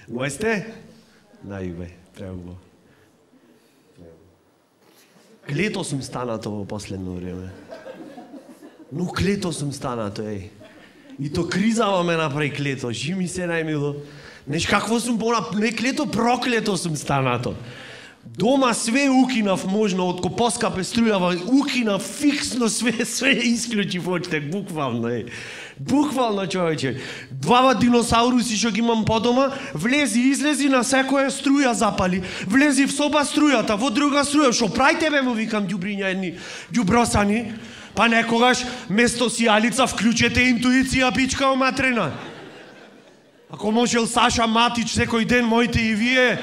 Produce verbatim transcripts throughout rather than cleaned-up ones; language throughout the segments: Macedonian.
Мој сте? Најубе, преубаво. Клето сум станато во последно време. Но клето сум станато, еј. И то кризава ме направи клето, жи ми се најмило. Неш какво сум пона, не клето, проклето сум станато. Дома све укинав можно, од копоска пе струјава, укинав фиксно све, све исклучи в очите, буквално, е. Буквално, човече. Двава диносауруси што ги имам по дома, влези, излези, на секоја струја запали. Влези в соба струјата, во друга струја, шо прај тебе, му викам, ѓубриња едни, ѓубросани. Па некогаш, место сијалица, вклучете интуиција, пичка оматрена. Ако можел Саша Матич секој ден, моите и вие,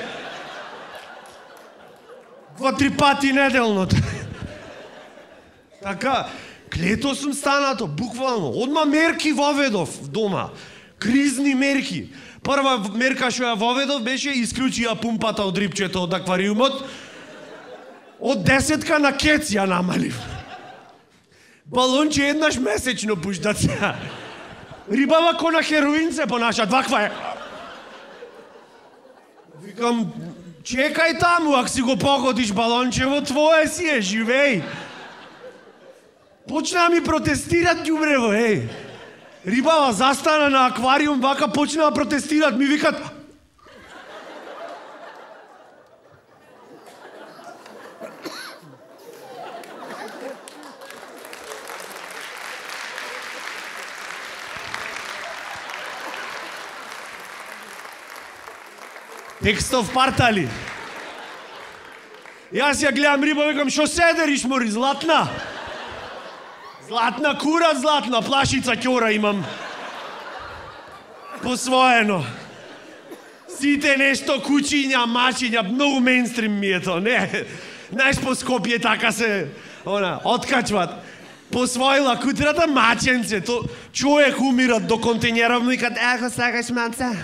два-три пати неделно. Така, клето сум станато, буквално. Одма мерки воведов дома. Кризни мерки. Прва мерка што ја воведов беше исклучија пумпата од рибчето од аквариумот. Од десетка на кец ја намалив. Балонче еднаш месечно пуштат се. Рибава ко на хероин се понаша, ваква е. Викам, чекај таму, ако си го погодиш балончево, твое си е, живеј. Почна ми протестират ѓубрево, еј. Рибава застана на аквариум, вака почна да протестират, ми викат... Текстов партали. Јас ја гледам риба, викам, шо седериш, мори, златна? Златна кура, златна плашица ќора имам. Посвоено. Сите нешто кучиња, мачиња, многу мейнстрим ми е то, не? Знаеш, по Скопје така се, она, откачват. Посвоила кутрата, маченце, то човек умират до контењеров, му викат, еко, сакаш маца?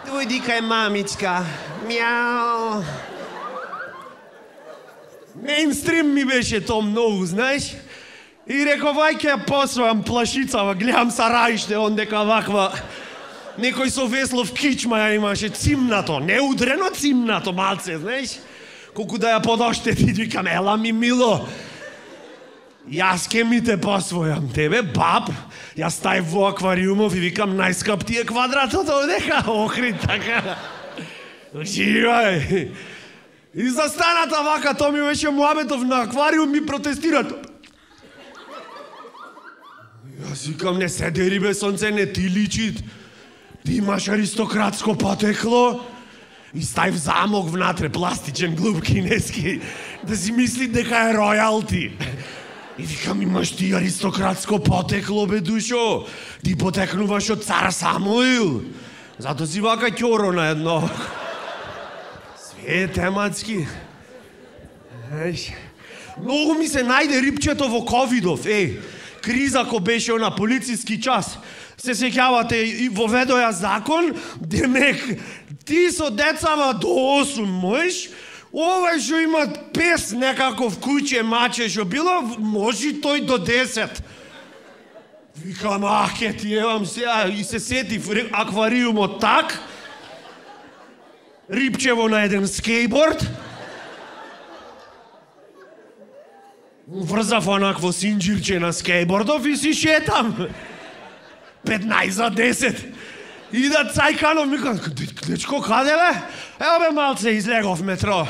Дојди кај мамичка. Мяу. Мейнстрим ми беше то многу, знаеш? И реков, ај ќе ја посвојам плашицава, гледам сараиште, ондека ваква... Некој со Веслов кичма ја имаше, цимнато, не удрено цимнато, малце, знаеш? Колку да ја подоштети, викам, ела ми мило. Јас ке ми те посвојам, тебе, баб, јас стај во аквариумов и викам, најскап ти е квадратот одека, охри, така. Живај. И застаната вака, то ми беше муабетов на аквариум, ми протестират. Јас викам, не седери бе, сонце, не ти личит. Ти имаш аристократско потекло. И стај в замок внатре, пластичен, глуп кинески, да си мисли дека е ројалти. И викам, имаш ти аристократско потекло, бе, душо. Ти потекнуваш од цар Самуил. Зато си вака ќоро на едно. Све е тематски. Еш. Многу ми се најде рибчето во ковидов, еј. Криза ко беше на полициски час. Се сеќавате, и воведоја закон, демек, ти со децава до осум можеш, овај што има пес некаков куќе, маче што било, може тој до десет. Викам, ах, ке ти евам сега, и се сетив аквариумот так, рибчево на еден скејборд, врзав онакво синџирче на скејбордов и си шетам. петнаесет за десет. И да цајканов ми кажа, дечко, каде бе? Ео бе, малце, излегов метро.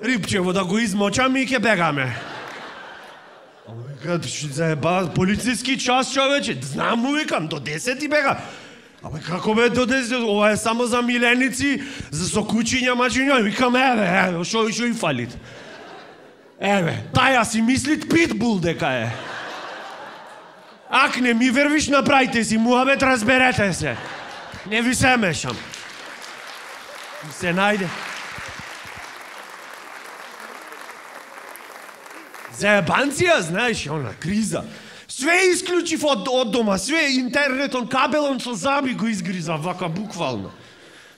Рибчево да го измочам и ке бегаме. Викат, ще заеба, полициски час, човече. Знам му, викам, до десет и бега. Абе, како бе до десет? Ова е само за миленици, за сокучиња, мачиња. Викам, еве, еве, шо, шо и фалит? Еве, таја си мислит питбул дека е. Ак не ми вервиш, направите си муабет, разберете се. Не ви се мешам. И се најде. Заебанција, знаеш, она, криза. Све исклучив од, од дома, све интернетон, кабелон со заби го изгриза, вака буквално.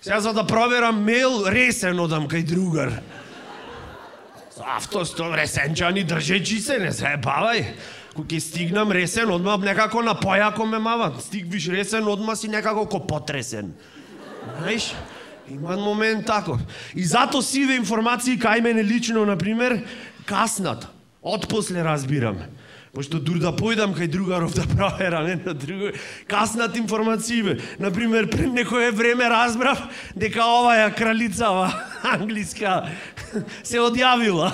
Сега за да проверам мейл, ресен одам кај другар. Со автостол, ресенчани, држечи се, не заебавај. Кога ќе стигнам ресен, одма некако на појако ме мават. Стигвиш ресен, одма си некако ко потресен. Знаеш? Има момент тако. И зато сиве информации кај мене лично, например, каснат. Отпосле разбирам. Пошто дур да појдам кај другаров да проверам, не на друго, каснат информации. Например, пред некое време разбрав дека оваа кралицава англиска се одјавила.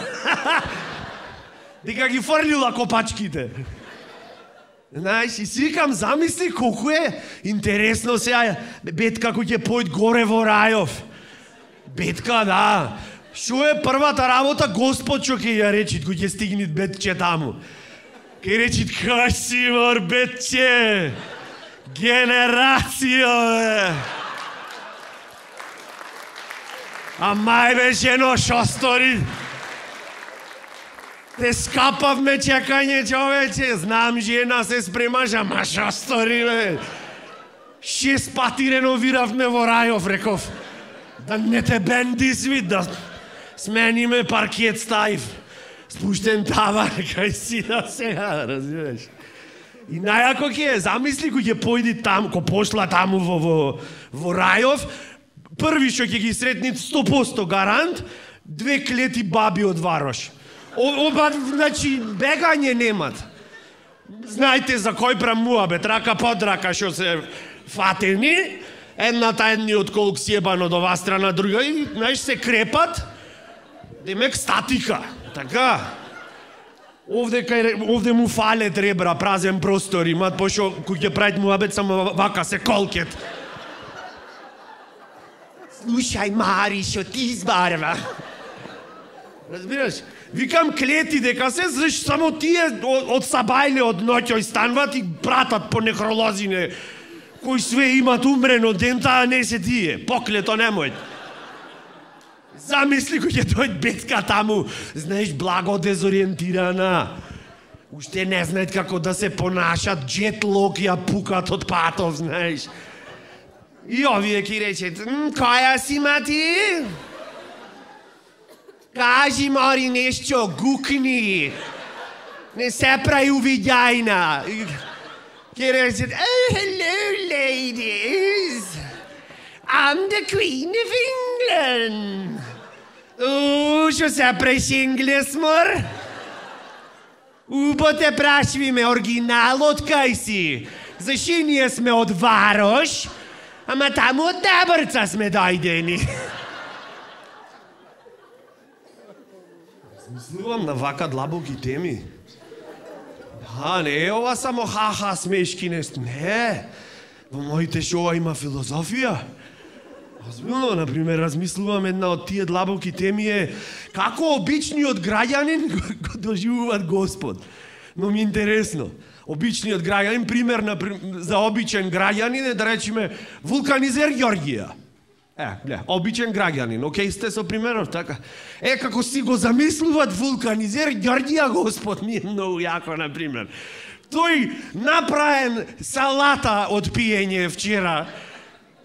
Дека ги фрлила копачките. Знаеш, и си викам, замисли колку е интересно сега Бетка кој ќе појд горе во рајов. Бетка, да. Шо е првата работа Господ што ќе ја речи кој ќе стигне Бетче таму? Ке речи, кај си, мор, Бетче? Генерација, бе! А мај беше едно шостори. Те скапавме чекање, човече. Знам, жена се спремаш, ама шостори, бе. Шест пати реновиравме во рајов, реков. Да не те бенди свит, да смениме паркет ставив. Спуштен тавар, кај си да сега, разбираш. И најако ќе е, замисли кој ќе појди таму, кој пошла таму во, во, во рајов, први што ќе ги сретни сто проценти гарант, две клети баби од Варош. Оба, значи, бегање немат. Знаете за кој прамуабе, трака под рака што се фатени, едната едни од колк сјебан од ова страна, друга, и, знаеш, се крепат, демек статика. Така. Овде кај овде му фалет ребра, празен простор имат, пошто кој ќе правит муабет само вака се колкет. Слушај, Мари, шо ти избарва? Разбираш? Викам клети дека се, зашто само тие од сабајле од ноќој станват и пратат по некролозине кои све имат умрено дента, а не се тие. Поклето немој. Замисли кој ќе дојд Бетка таму, знаеш, благо дезориентирана. Уште не знаат како да се понашат, джетлог ја пукат од патов, знаеш. И овие ќе речет, која си, мати? Кажи, Мари, нешто, гукни. Не се прави увидјајна. Ќе речет, oh, hello, ladies. I'm the Queen of England. У, што се преш инглес, мор? Убо те прашвиме, оригиналот кај си? Заши ние сме од Варош, ама таму од Дабрца сме дојдени. Мислувам на вака длабоки теми. А, не е ова само ха-ха смешки нешто. Не, во моите шоа има филозофија. Озбилно, например, размислувам една од тие длабоки теми е како обичниот граѓанин го доживуваат Господ. Но ми е интересно. Обичниот граѓанин, пример на, за обичен граѓанин е, да речеме, вулканизер Ѓорѓија. Е, не, обичен граѓанин, окей сте со примеров, така. Е, како си го замислуват вулканизер Ѓорѓија Господ, ми е многу јако, например. Тој направен салата од пиење вчера,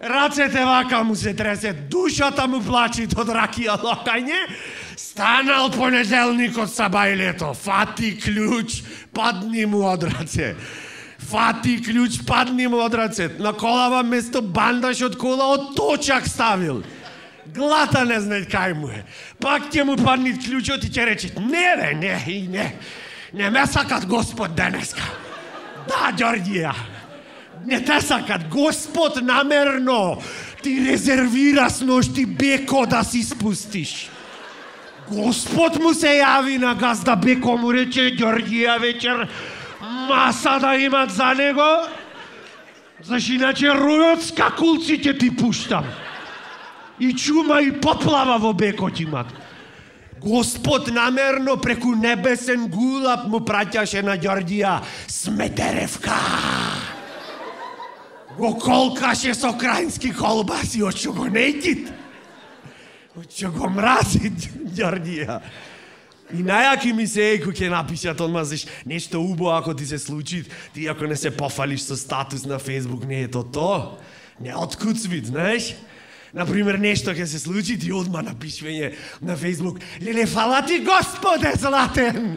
рацете вака му се тресет, душата му плачи од ракија локање, станал понеделник од сабајлето, фати клjuč, падни му од раце. Фати клjuč, падни му од раце. На колава место бандаш од кола од точак ставил. Глата не знае кај му е. Пак ќе му падни клjučот и ќе рече, не бе, не, и не. Не ме сакат Господ денеска. Да, Ѓорѓија. Не те сакат, Господ намерно ти резервира с ношти Беко да си спустиш. Господ му се јави на газда Беко, му рече, Ѓорѓија вечер маса да имат за него, зашто иначе ројот скакулци ќе ти пуштам. И чума и поплава во Беко ти имат. Господ намерно преку небесен гулап му праќаше на Ѓорѓија Сметеревка. Го колкаше со крајнски колбаси, очо го нејтит. Очо го мрази Ѓорѓија. И најаки ми се е, кој ќе напишат одма, заш нешто убаво ако ти се случи, ти ако не се пофалиш со статус на Фейсбук, не е то то. Не откуцвит, знаеш? Например, нешто ќе се случи, ти одма напишвање на Фейсбук, леле, фала ти Господе златен!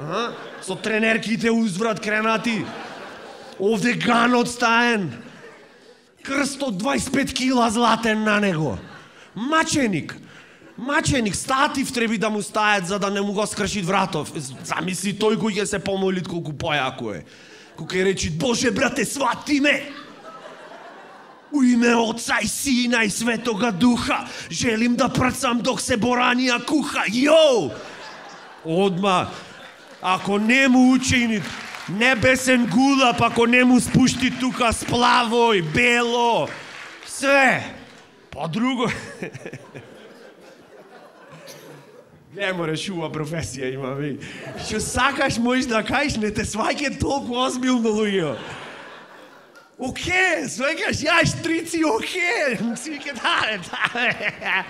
А? Со тренерките узврат кренати. Овде ганот стаен. Крст од дваесет и пет кила златен на него. Маченик. Маченик, статив треби да му стајат за да не му го скршит вратов. Замисли тој кој ќе се помолит колку појако е. Кој ќе речи, Боже брате, свати ме! У име Отца и Сина и Светога Духа, желим да прцам док се боранија куха. Јоу! Одма, ако не му учини небесен гулап, ако не му спушти тука сплаво и бело, све, па друго... Не мораш ува професија има, ви. Што сакаш можеш да кажеш, не те сваќа толку озбилно, луѓе. Оке, сваќаш, ја штрици, оке. Свике, да, да.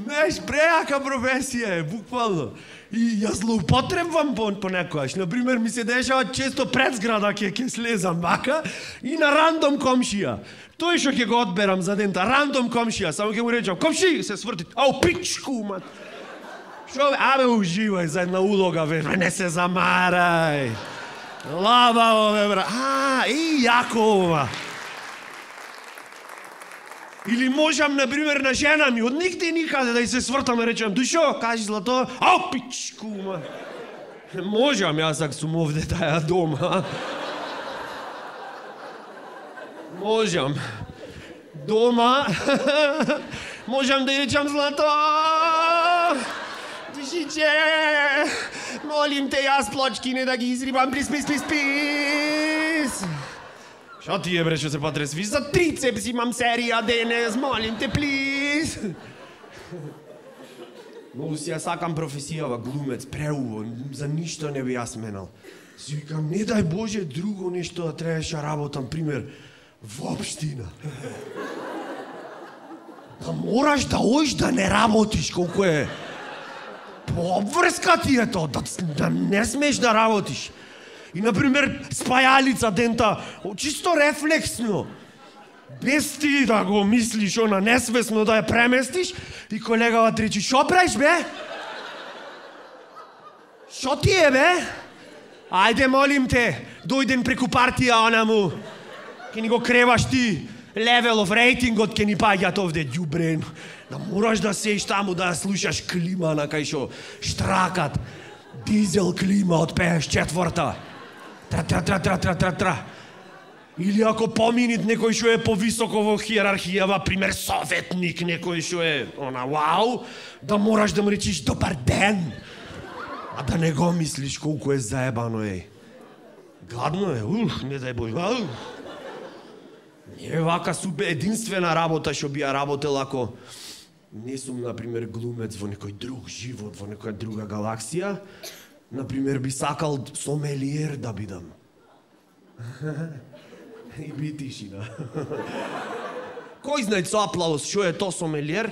Неш, преака професија е, буквално. И јас злоупотребвам по, по некојаш. Например, ми се дешава често пред зграда ке, ке слезам бака и на рандом комшија. Тој што ќе го одберам за дента, рандом комшија, само ќе му речам, комши, се сврти, ау, пичку, мат. Шо, абе, уживај за една улога, бе, не се замарај. Лабаво, бе, бра. А, и јако ова. Или можам, например, на жена ми, од нигде никаде да и се свртам и речем, душо, кажи злато, ау, пичку, ма. Можам, јас ако сум овде таја дома. Можам. Дома. Можам да и речам злато. Душиче, молим те, јас плочки не да ги изрибам, плис, плис, плис, плис. Шо ти е, бре, што се потресвиш? За трицепс имам серија денес, молим те, плис. Многу си ја сакам професијава, глумец, преубо, за ништо не би јас менал. Си викам, не дај Боже друго нешто да требаше работам, пример, воопштина. Да мораш да оиш да не работиш, колку е... По обврска ти е тоа, да, да не смеш да работиш. И, например, спајалица дента, чисто рефлексно, без ти да го мислиш, она несвесно да ја преместиш, и колегава ти речи, шо правиш, бе? Шо ти е, бе? Ајде, молим те, дојден преку партија, она му, ке ни го креваш ти, левелов рейтингот ке ни паѓат овде, ѓубрен. Да мораш да сеиш таму да слушаш клима на кај шо штракат. Дизел клима од петдесет и четврта. Тра, тра, тра, тра, тра, тра, тра. Или ако поминит некој што е повисоко во хиерархијава, пример советник, некој што е, она, вау, да мораш да му речиш добар ден. А да не го мислиш колку е заебано, е. Гадно е, ух, не дај Боже, ау. Не е вака супер единствена работа што би ја работел ако не сум, например, глумец во некој друг живот, во некоја друга галаксија. Например, би сакал сомелиер да бидам. И би тишина. Кој знае со аплауз, што е то сомелиер?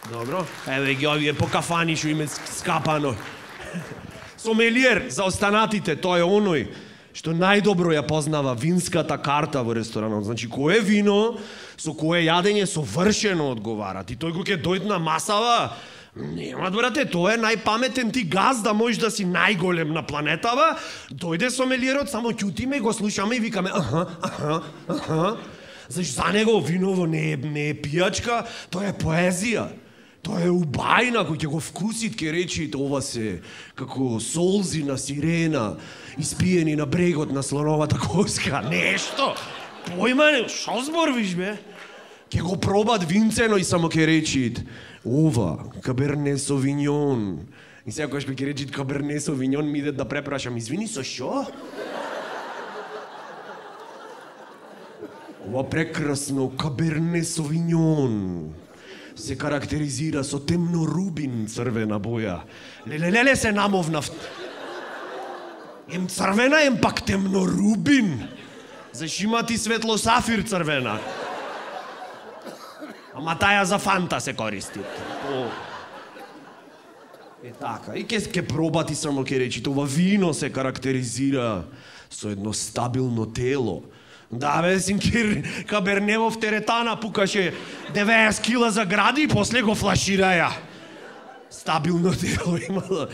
Добро. Еве ги овие по кафани што име скапано. Сомелиер, за останатите, тоа е оној што најдобро ја познава винската карта во ресторанот. Значи, кое вино, со кое јадење совршено одговарат. И тој кој ќе дојде на масава, нема, брате, тоа е најпаметен ти газ да можеш да си најголем на планетава. Дојде сомелиерот, само ќутиме, го слушаме и викаме аха, аха, аха. Зашто за него виново не е, не е пијачка, тоа е поезија. Тоа е убајна, кој ќе го вкусит, ќе речи, ова се како солзи на сирена, испиени на брегот на слоновата коска, нешто. Појма не, шо зборвиш, бе? Ќе го пробат винцено и само ќе речит, ова, каберне совиньон. И секојаш ќе речит каберне совиньон, ми иде да препрашам, извини, со шо? Ова прекрасно каберне совиньон се карактеризира со темно рубин црвена боја. Леле-леле се намовнав. Ем црвена, ем пак темно рубин. Зашто има ти светло сафир црвена. Ама таја за фанта се користи. О. Е така. И ке, ке пробати само ке речи, ова вино се карактеризира со едно стабилно тело. Да, бе, синкир, кабернево в теретана пукаше деветдесет кила за гради и после го флашираја. Стабилно тело имало.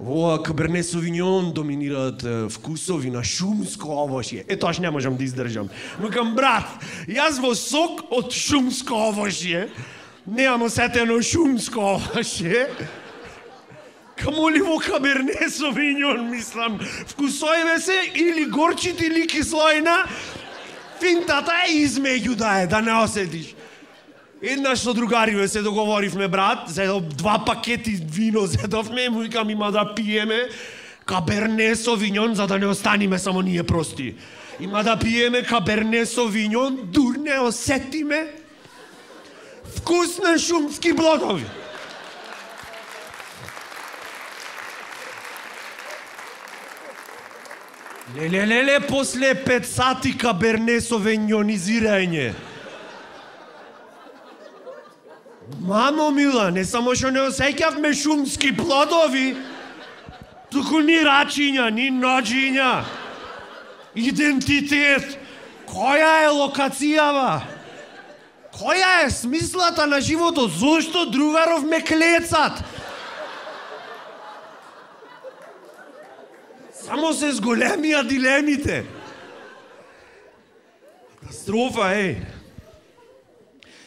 Ова Каберне Совиньон доминираат вкусови на шумско овошје. Е, тоа не можам да издржам. Викам, брат, јас во сок од шумско овошје, немам осетено шумско овошје, камоли во Каберне Совиньон, мислам, вкусојве се или горчит или кислојна, финтата е измеѓу да е, да не осетиш. Еднаш со другариве се договоривме, брат, зедов два пакети вино зедовме, му викам има да пиеме Каберне Совиньон, за да не останиме само ние прости. Има да пиеме Каберне Совиньон, дур не осетиме вкус на шумски плодови. Леле, леле, после пет сати Каберне Совиньонизирање. Мамо мила, не само што не осеќавме шумски плодови, туку ни рачиња, ни ноđиња. Идентитет. Која е локацијава? Која е смислата на животот? Зошто другаров ме клецат? Само се зголемија дилемите. Катастрофа, еј.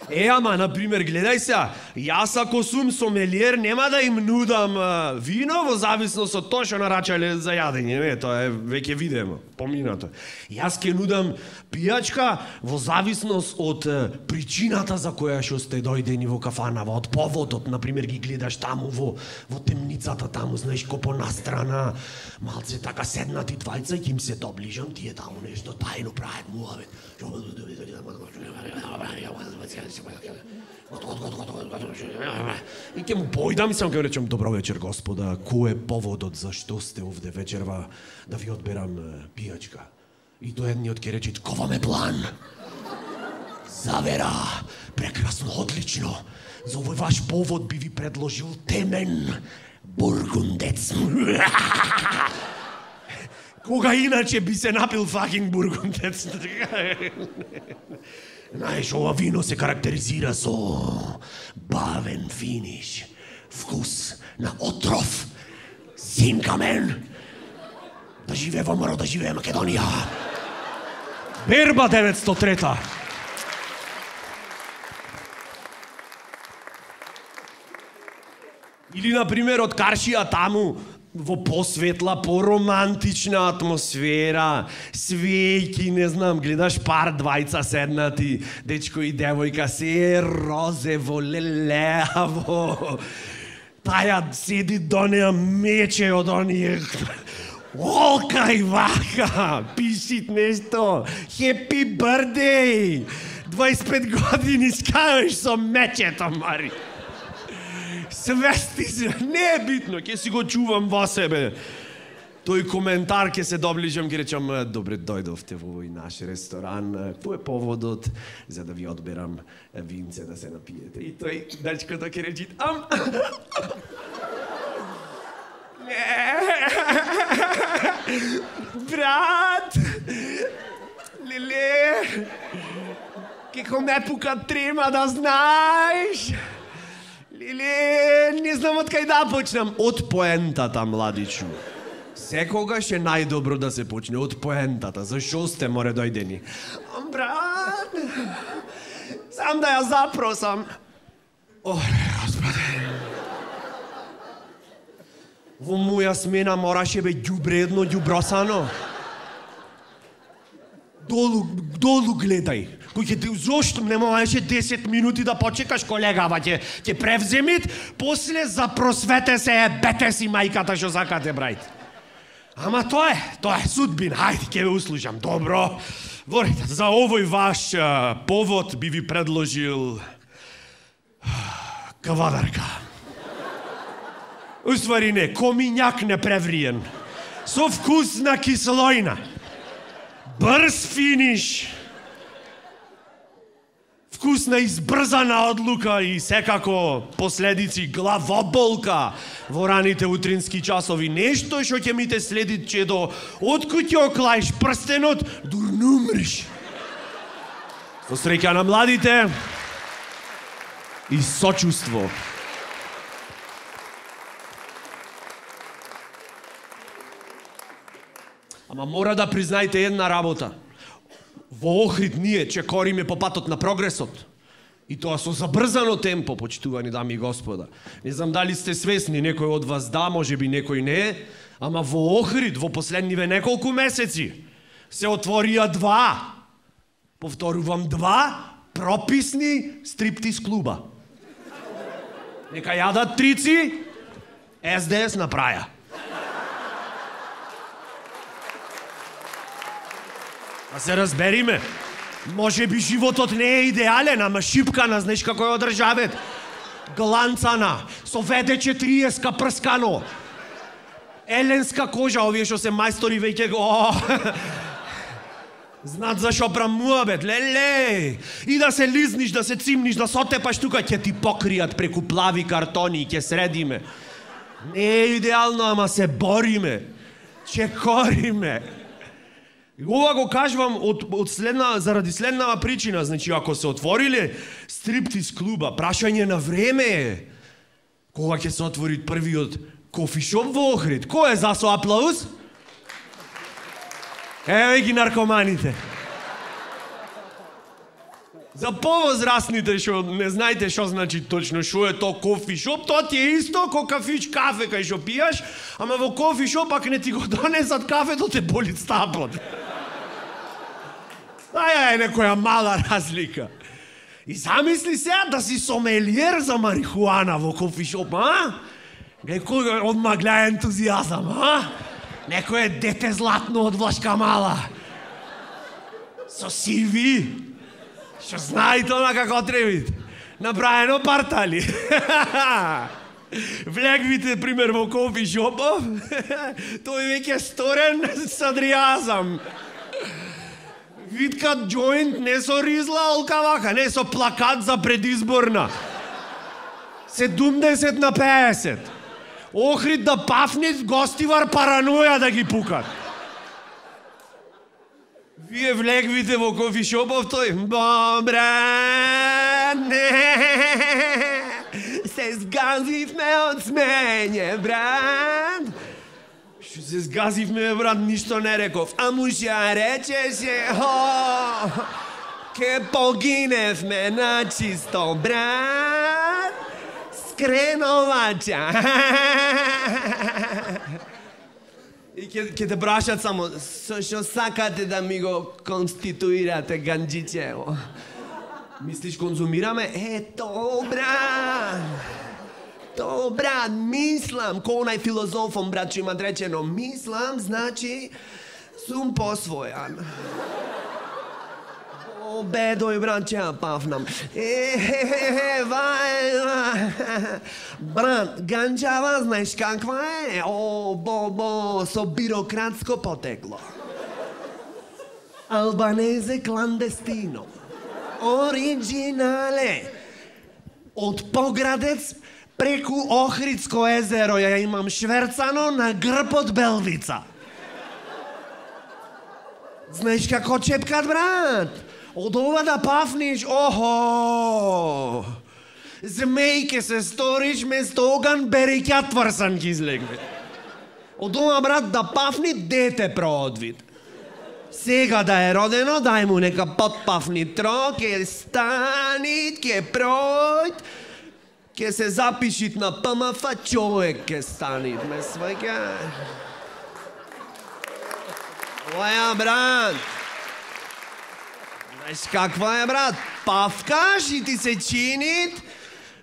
Е, ама, например, гледај се, јас ако сум сомелиер, нема да им нудам а, вино во зависност од тоа што нарачале за јадење, не, тоа е веќе видено, поминато. Јас ќе нудам пијачка во зависност од а, причината за која што сте дојдени во кафанава, од поводот, например, ги гледаш таму во, во темницата, таму, знаеш, ко понастрана, малце така седнати двајца и ќе им се доближам, тие таму нешто тајно прават муавет. И ќе му појдам и сам ќе речем, добро вечер, господа, кој е поводот зашто сте овде вечерва да ви одберам пијачка? И тој едниот ќе рече, кова ме план? Завера, прекрасно, одлично. За овој ваш повод би ви предложил темен бургундец. Кога иначе би се напил факинг бургундец? Знаеш, ова вино се карактеризира со бавен финиш, вкус на отров, синка мен. Да живее ВМРО, да живее Македонија. Берба деветстотини и трета. Или, например, од Каршија таму, во посветла, поромантична атмосфера, свејки, не знам, гледаш пар двајца седнати, дечко и девојка, се е розево, лелеаво. Таја седи до неа мече од оние... Олка и вака, пишит нешто, хепи бърдей, двајсет и пет години скаваш со мечето, мари. Свести се, не е битно, ќе си го чувам во себе. Тој коментар ќе се доближам, ќе речам, добре дојдовте во овој наш ресторан, кој е поводот за да ви одберам винце да се напиете. И тој дечкото ќе речи, ам... Брат, леле, како ме пука трема, да знаеш. Леле, не знам од кај да почнам. Од поентата, младичу. Секогаш е најдобро да се почне од поентата. Зашо сте море дојдени? Брат, сам да ја запросам. Оле, господи. Во моја смена мораше бе ѓубре едно ѓубросано. Долу, долу гледај. Кој ќе, зошто не можеше десет минути да почекаш, колегава, ќе ќе превземит, после запросвете се е бете си мајката што сакате, брајте. Ама тоа е, тоа е судбина. Хајде, ќе ве услушам. Добро. Ворите, за овој ваш а, повод би ви предложил кавадарка. Уствари не, комињак непревриен. Со вкус на кислојна. Брз финиш. Вкусна избрзана одлука и секако последици главоболка во раните утрински часови. Нешто што ќе ми те следи чедо, откуд ќе оклаиш прстенот, дур не умриш. Со среќа на младите и сочувство. Ама мора да признаете една работа. Во Охрид ние чекориме по патот на прогресот. И тоа со забрзано темпо, почитувани дами и господа. Не знам дали сте свесни, некој од вас да, може би некој не, ама во Охрид во последниве неколку месеци се отворија два, повторувам два, прописни стриптиз клуба. Нека јадат трици, Ес Де Ес направја. Да се разбериме. Може би животот не е идеален, ама шипкана, знаеш како е одржавет. Гланцана, со ведече триеска прскано. Еленска кожа, овие што се мајстори веќе го... Знат зашо прамуабет, леле. И да се лизниш, да се цимниш, да сотепаш тука, ќе ти покријат преку плави картони и ќе средиме. Не е идеално, ама се бориме. Чекориме. Ова го кажувам од, од следна, заради следнава причина. Значи, ако се отвориле стриптиз клуба, прашање на време е. Кога ќе се отвори првиот кофишоп во Охрид? Кој е за со аплауз? Еве ги наркоманите. За повозрастните што не знаете што значи точно што е тоа кофишоп, тоа ти е исто ко кафич кафе кај што пијаш, ама во кофишоп пак не ти го донесат кафето, те боли стапот. Аја е некоја мала разлика. И замисли сега да си сомелиер за марихуана во кофишоп, а? Некој одма гледа ентузијазам, а? Некој е дете златно од Влашка мала. Со си ви. Што знае тоа како требит. Направено партали. Влегвите, пример, во кофишопов. Тој веќе сторен садријазам. Виткат джоинт не со ризла олкавака, не со плакат за предизборна. седумдесет на пеесет. Охрид да пафнит, гостивар параноја да ги пукат. Вие влегвите во кофишопов, тој... Добре, не, се сгазивме од смење, брат. Што се сгазивме, брат, ништо не реков. А муша речеше, о, ке погиневме на чисто, брат. Скреновача. И ќе ќе те прашат само, со што сакате да ми го конституирате ганџичево? Мислиш конзумираме? Е, то, брат. То, брат, мислам, ко онај филозофом, брат, што имат речено, мислам, значи, сум посвојан. О, бедој, брат, ќе ја пафнам. Е, е, е, вај, брат, ганџава, знаеш каква е? О, бо, бо, со бирократско потекло. Албанезе кландестино. Оригинале. Од Поградец преку Охридско езеро ја имам шверцано на грб од Белвица. Знаеш како чепкат, брат? Од ова да пафниш, охо! Змејке се сториш, место оган береќа тврсан ги излегне. Од ова, брат, да пафни дете проодвид. Сега да е родено, дај му нека подпафни тро, ке станит, ке пројд, ке се запишит на П М Ф, човек ке станит, ме сваќа. Оја, брат. Знаеш каква е, брат? Павкаш и ти се чинит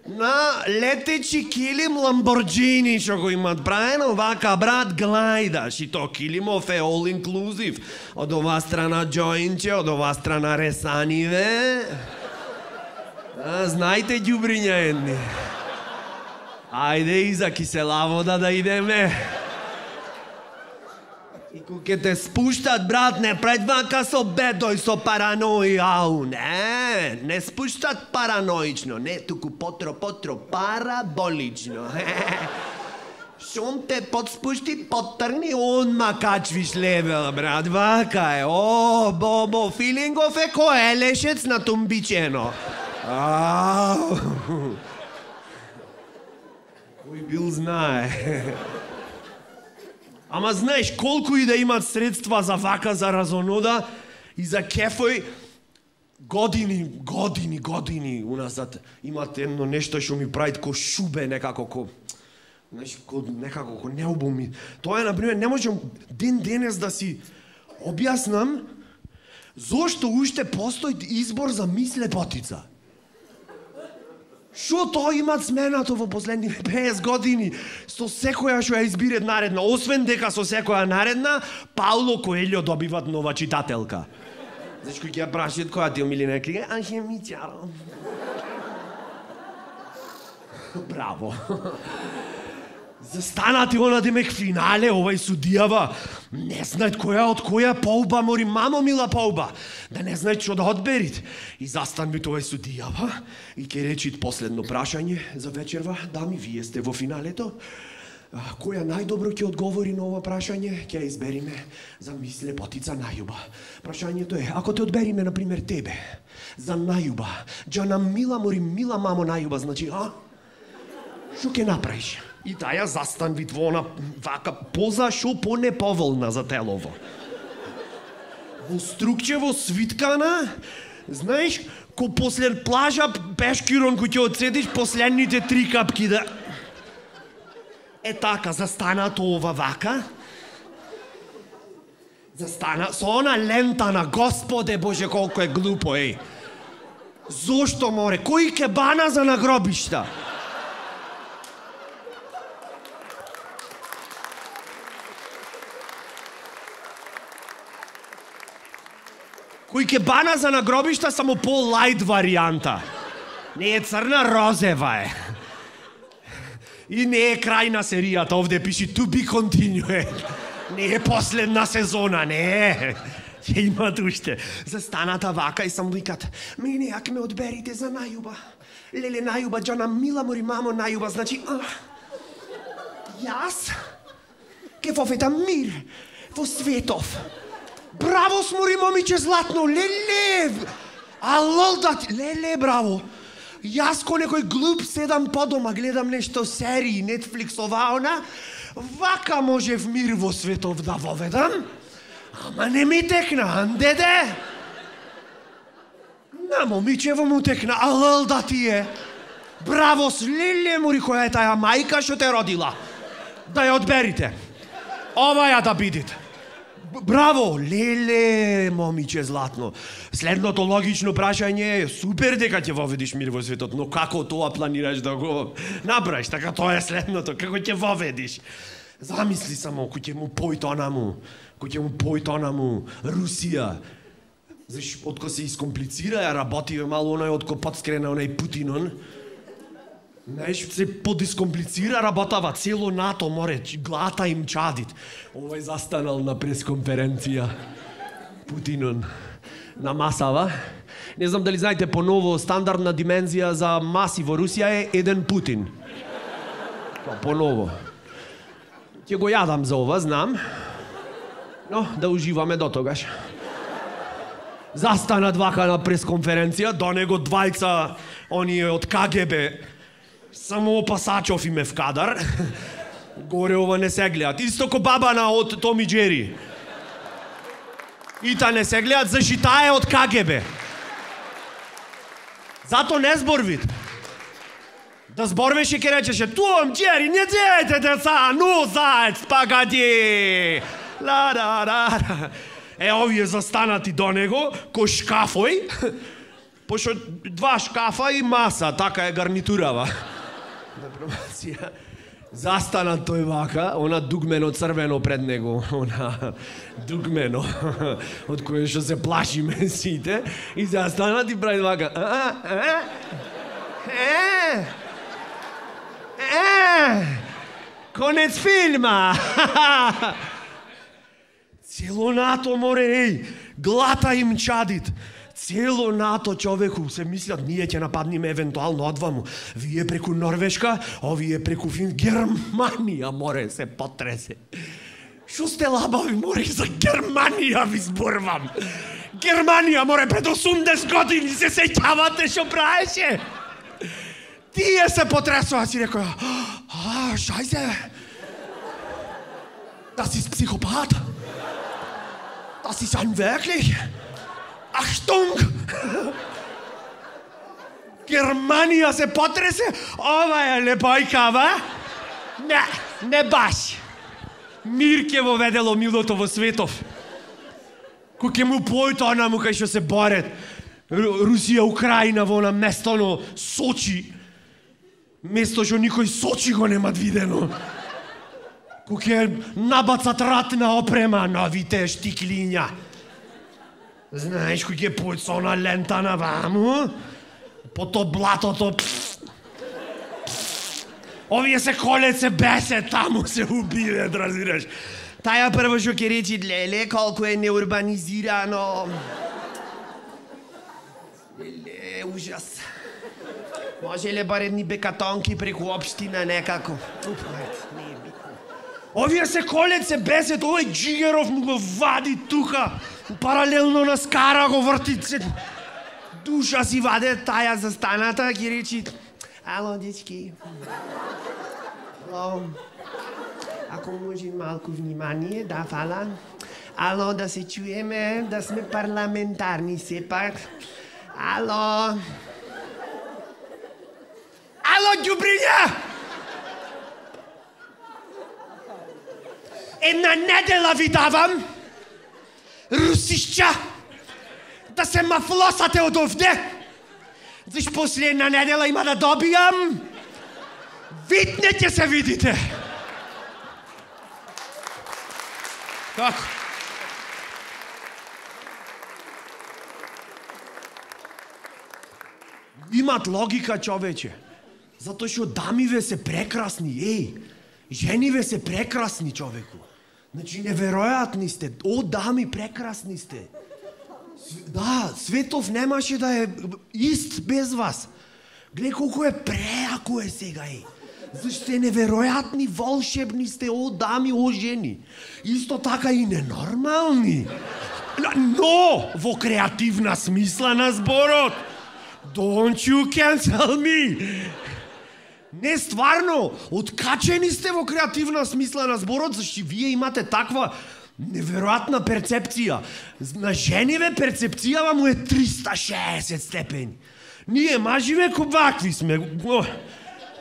на летечи килим Ламборджини што го имат правено, вака, брат, глајдаш. И то килимов е all inclusive. Од ова страна джоинче, од ова страна ресаниве. А, знајте, ѓубриња едни. Ајде, и за кисела вода да идеме. И кога те спуштат, брат, не предвака со бедој, со паранои, ау, не, не спуштат параноично, не, туку потро, потро, параболично. Шум те подспушти, поттрни, онма качвиш левел, брат, вака е, о, бобо, филингов е ко елешец на тумбичено. Ау, кој бил знае. Ама знаеш, колку и да имат средства за вака, за разонода и за кефој, години, години, години уназад имат едно нешто што ми прави ко шубе некако, ко, знаеш, ко, некако, ко неубоми. Тоа е, например, не можам ден денес да си објаснам зошто уште постои избор за мис лепотица. Шо тоа имат сменато во последните петдесет години со секоја што ја избират наредна, освен дека со секоја наредна Пауло Коелјо добиват нова читателка. Знаеш кој ќе ја прашат која ти омилена книга? Алхемичар. Браво. Застанати она демек финале, овај судијава, не знаат која од која полба, мори мамо мила полба, да не знаат што да одберит. И застанбит овај судијава и ќе речит последно прашање за вечерва, дами, вие сте во финалето. Која најдобро ќе одговори на ова прашање, ќе ја избериме за мис лепотица најуба. Прашањето е, ако те одбериме, например, тебе, за најуба, джана мила, мори мила мамо најуба, значи, а? Што ќе направиш? И таја застанви во она вака поза шо понеповолна за телово. Во струкчево свиткана, знаеш, ко после плажа пешкирон кој ќе одседиш последните три капки да... Е така, застанато ова вака. Застана, со она лента на Господе Боже колко е глупо, еј. Зошто море? Кој ке бана за нагробишта? Кој ке бана за нагробишта, само по-лайт варијанта. Не е црна, розева е. И не е крај на серијата, овде пиши to be continued. Не е последна сезона, не. Ќе имат уште. Застаната вака и само викат, мене ако ме одберите за најуба. Леле најуба, джана мила мори мамо најуба, значи, а, јас ке воведам мир во светов. Браво, смори момиче златно, леле! Алол да ти, леле, браво! Јас ко некој глуп седам по дома, гледам нешто серии, Netflix ова она, вака можев мир во светов да воведам, ама не ми текна, анделе! На момичево му текна, алол да ти е! Браво, леле, мори, која е таја мајка што те родила? Да ја одберите. Ова ја да бидите. Браво, леле, момиче златно. Следното логично прашање е супер дека ќе воведиш мир во светот, но како тоа планираш да го направиш? Така тоа е следното, како ќе воведиш? Замисли само, кој ќе му појтона му, кој ќе му појтона му Русија. Заш, отко се искомплицира, ја работиве мало онај отко подскрена онај Путинон. Знаеш, се подискомплицира работава, цело НАТО море, глата им чадит. Овај застанал на пресконференција. Путинон на масава. Не знам дали знаете, поново стандардна димензија за маси во Русија е еден Путин. Поново. Ќе го јадам за ова, знам. Но, да уживаме до тогаш. Застанат вака на пресконференција, до него двајца, оние од К Г Б, само Пасачов име в кадар. Горе ова не се гледат. Исто ко бабана од Том и Джери. И та не се гледат, заши таа е од К Г Б. Зато не зборвит. Да зборвеше ке речеше, Том, Джери, не дејте деца, ну заец, пагади. Ла-ра-ра-ра. Е, овие застанати до него, ко шкафој, пошто два шкафа и маса, така е гарнитурава. Застанат тој вака, она дугмено црвено пред него, она дугмено, од кое што се плашиме сите, и застанат и прави вака. Е, е, конец филма. Цело НАТО море, еј, глата им чадит. Цело НАТО човеку се мислат, ние ќе нападниме евентуално одваму. Вие преку Норвешка, овие преку Фин... Германија море се потресе. Шо сте лабави море, за Германија ви зборвам. Германија море пред осумдесет години се сеќавате шо праеше. Тие се потресува, си рекоја, а, шајзе. Das ist Psychopath. Das ist ein wirklich. Achtung! Германија се потресе, ова е лепојкава. Не, не баш. Мир ке во ведело милото во светов. Кој ке му појто онаму кај што се борет. Русија, Украина во на место на Сочи. Место што никој Сочи го немат видено. Кој ке набацат ратна опрема, новите штиклиња. Знаеш кој ке појт со она лента на ваму? По то блатото. Овие се колет, се бесет, таму се убиват, разбираш. Таја прво што ќе речи, леле, колку е неурбанизирано. Леле, ужас. Може ли барем ни бекатонки преку општина некако? Упред, не е битно. Овие се колет, се бесет, овој Джигеров му го вади тука. Паралелно на скара го врти се. Душа си ваде таја застаната, ќе речи, ало, дечки. Ало, ако може малку внимание, да, фала. Ало, да се чуеме, да сме парламентарни сепак. Ало. Ало, ѓубриња! Една недела ви давам, русишќа, да се мафлосате од овде. Заш после една недела има да добијам. Видне ќе се видите. Како? Имат логика, човече. Затоа што дамиве се прекрасни, еј. Жениве се прекрасни, човеку. Значи, неверојатни сте. О, дами, прекрасни сте. Да, светов немаше да е ист без вас. Гледај колку е преако е сега, е. Зашто е неверојатни, волшебни сте, о дами, о жени. Исто така и ненормални. Но, во креативна смисла на зборот. Don't you cancel me. Не, стварно, откачени сте во креативна смисла на зборот, зашто вие имате таква неверојатна перцепција. На жениве перцепцијава му е триста шеесет степени. Ние маживе ко вакви сме.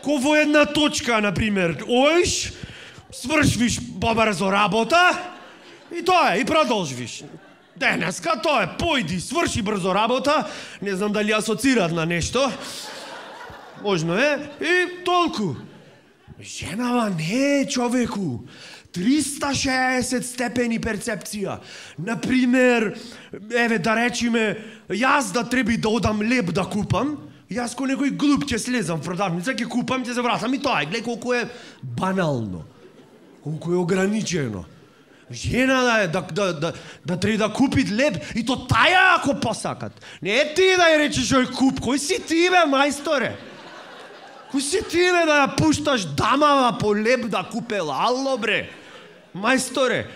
Ко во една точка, например. Оиш, свршвиш побрзо работа и тоа е, и продолжвиш. Денеска тоа е, појди, сврши брзо работа, не знам дали асоцират на нешто. Можно е, и толку. Женава не е, човеку. триста шеесет степени перцепција. Например, еве да речиме, јас да треби да одам леб да купам, јас ко некој глуп ќе слезам в продавница, ќе купам, ќе се вратам и тоа. Гледај колку е банално, колку е ограничено. Жена да, да, да, да, да треба да купи леб и то таја ако посакат. Не е ти да ја речеш ој куп, кој си ти бе, мајсторе? Кој си ти бе да ја пушташ дамава по леб да купела? Ало бре, мајсторе,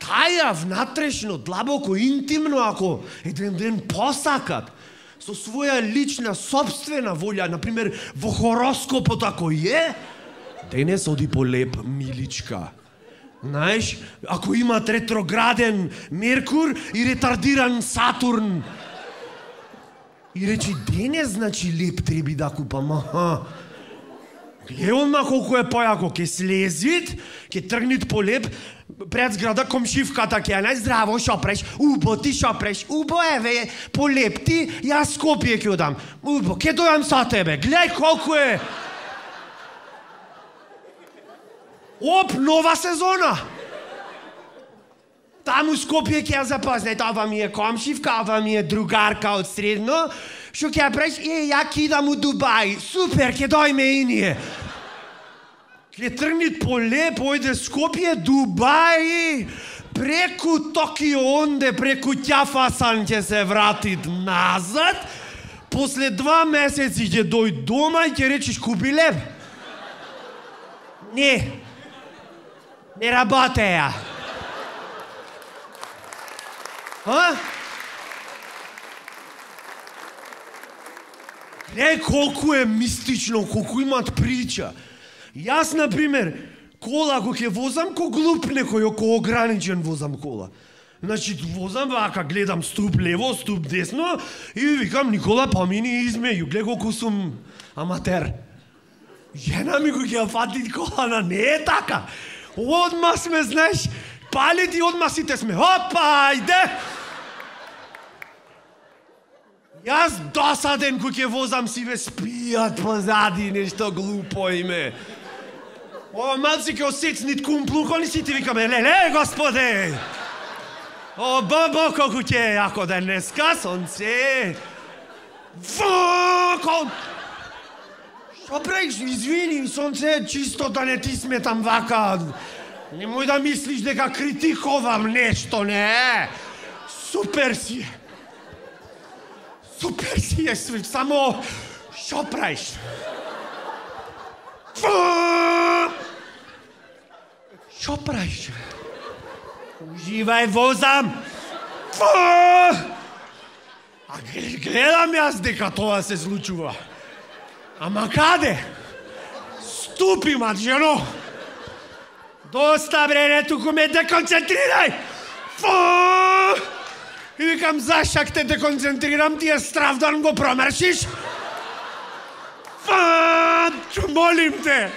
таја внатрешно, длабоко, интимно, ако еден ден посакат, со своја лична, собствена волја, например, во хороскопот ако е, денес оди по леб, миличка. Знаеш, ако имат ретрограден Меркур и ретардиран Сатурн, и речи, денес, значи, леб треби да купам, аха. Гледам на колку е појако, ке слезит, ке тргнит по леб, пред зграда комшивката ке ја нај, здраво, шо преш, убо, ти шо преш, убо, еве, по леб ти, јас Скопје ке одам, убо, ке дојам со тебе, гледај колку е. Оп, нова сезона. Таму Скопје ќе ја запознајте, ова ми е комшивка, ова ми е другарка од средно, што ќе ја преш, е, ја кидам у Дубај, супер, ќе дојме и ние. Ке тргнит по леб, ојде Скопје, Дубај, преку Токио, онде, преку Ќафасан ќе се вратит назад, после два месеци ќе дојд дома и ќе речеш купи леб. Не, не работеја. А? Гледај колку е мистично, колку имат прича. Јас, например, кола го ќе возам ко глуп некој, ко ограничен возам кола. Значи, возам вака, гледам ступ лево, ступ десно и викам, Никола, помини измеју, гледа колку сум аматер. Жена ми го ќе фати колана, не е така. Одма сме, знаеш, палит и одма сите сме, опа, ајде! Јас досаден кој ќе возам си ве спијат позади, нешто глупо име. Ова малци ќе осецнит кумплукони сите викаме, леле, господе! О, бабо, колку ќе е јако денеска, сонце! Вако! Шо правиш, извини, сонце, чисто да не ти сметам вака. Немој да мислиш дека критикувам нешто, не! Супер си! Супер си е, само шо правиш? Шо правиш? Уживај, возам! А гледам јас дека тоа се случува. Ама каде? Ступи, мат, жено! Доста, бре, не туку ме деконцентрирај! И викам, зашак те деконцентрирам, ти е стравдан го промршиш? Молим те!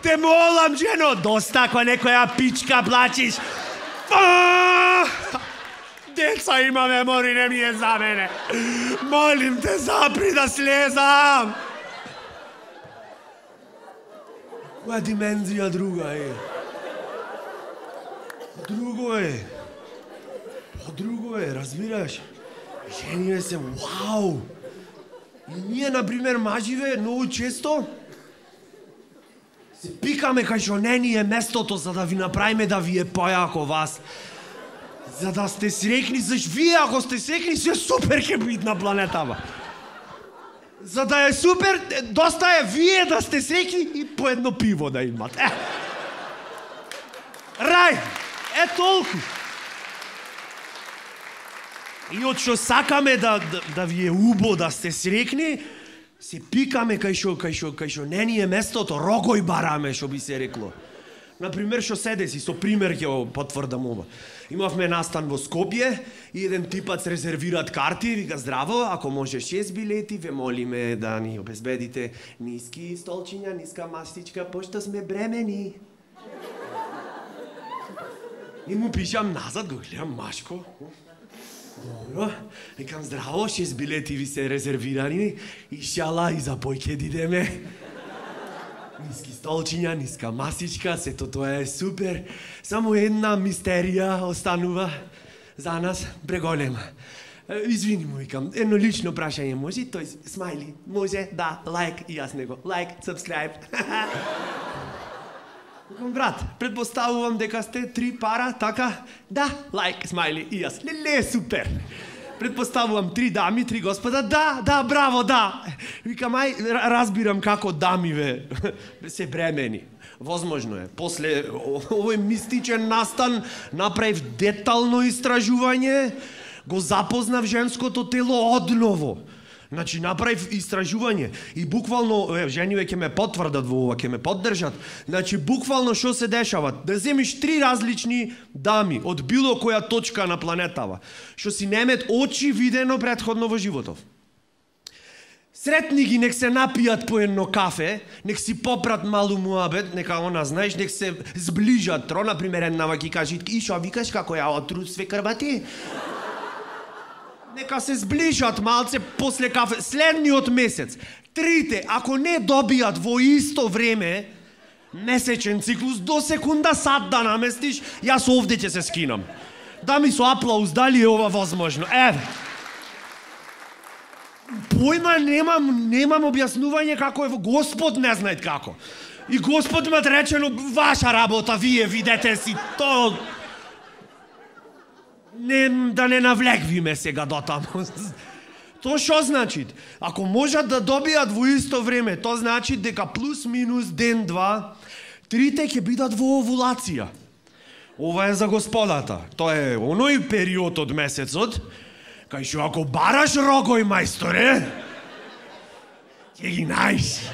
Те молам, жено, доста ако некоја пичка плачиш. Деца имаме, мори, не ми е за мене. Молим те, запри да слезам. Која димензија друга е? Друго е. Друго е, разбираш? Жениве се, вау! И ние, например, маживе, многу често се пикаме кај шо не ни е местото за да ви направиме да ви е појако вас. За да сте срекни, заш вие ако сте срекни, се супер ќе бит на планетава. За да е супер, доста е вие да сте срекни и по едно пиво да имате. Е. Рај, е толку. И од што сакаме да, да, да ви е убо, да сте срекни, се пикаме кај шо, кај шо, кај шо не ни е местото, рогој бараме, што би се рекло. Например, што седе си, со пример ќе го потврдам ова. Имавме настан во Скопје и еден типац резервираат карти, вика, здраво, ако може шест билети, ве молиме да ни обезбедите ниски столчиња, ниска мастичка, пошто сме бремени. И му пишам назад, го гледам машко. Добро, викам, здраво, шест билети ви се резервирани, ишала и за пој ќе дидеме. Ниски столчиња, ниска масичка, сето тоа е супер. Само една мистерија останува за нас преголема. Извини му, викам, едно лично прашање може? Тој смајли, може, да, лайк, и јас него. Лайк, сабскрайб. Викам, брат, предпоставувам дека сте три пара, така? Да, лайк, смајли, и јас. Леле, супер. Предпоставувам три дами, три господа. Да, да, браво, да. Викам, ај, разбирам како дами ве се бремени. Возможно е. После овој мистичен настан направив детално истражување, го запознав женското тело одново. Значи, направив истражување и буквално, е, жениве ќе ме потврдат во ова, ќе ме поддржат. Значи, буквално што се дешава? Да земиш три различни дами од било која точка на планетава, што си немет очевидено претходно во животов. Сретни ги, нек се напијат по едно кафе, нек си попрат малу муабет, нека она, знаеш, нек се зближат. Тро, например, една ва ги кажи, и шо викаш како ја отрусве крвати? Нека се зближат малце после кафе. Следниот месец, трите, ако не добијат во исто време, месечен циклус, до секунда сад да наместиш, јас овде ќе се скинам. Да ми со аплауз, дали е ова возможно? Еве. Појма немам, немам објаснување како е, Господ не знаат како. И Господ ме речено, ваша работа, вие видете си то. Не, да не навлеквиме сега до таму. То што значи? Ако можат да добијат во исто време, то значи дека плюс минус ден-два, трите ќе бидат во овулација. Ова е за господата. Тоа е оној период од месецот, кај што ако бараш рогој, мајсторе, ќе ги најш.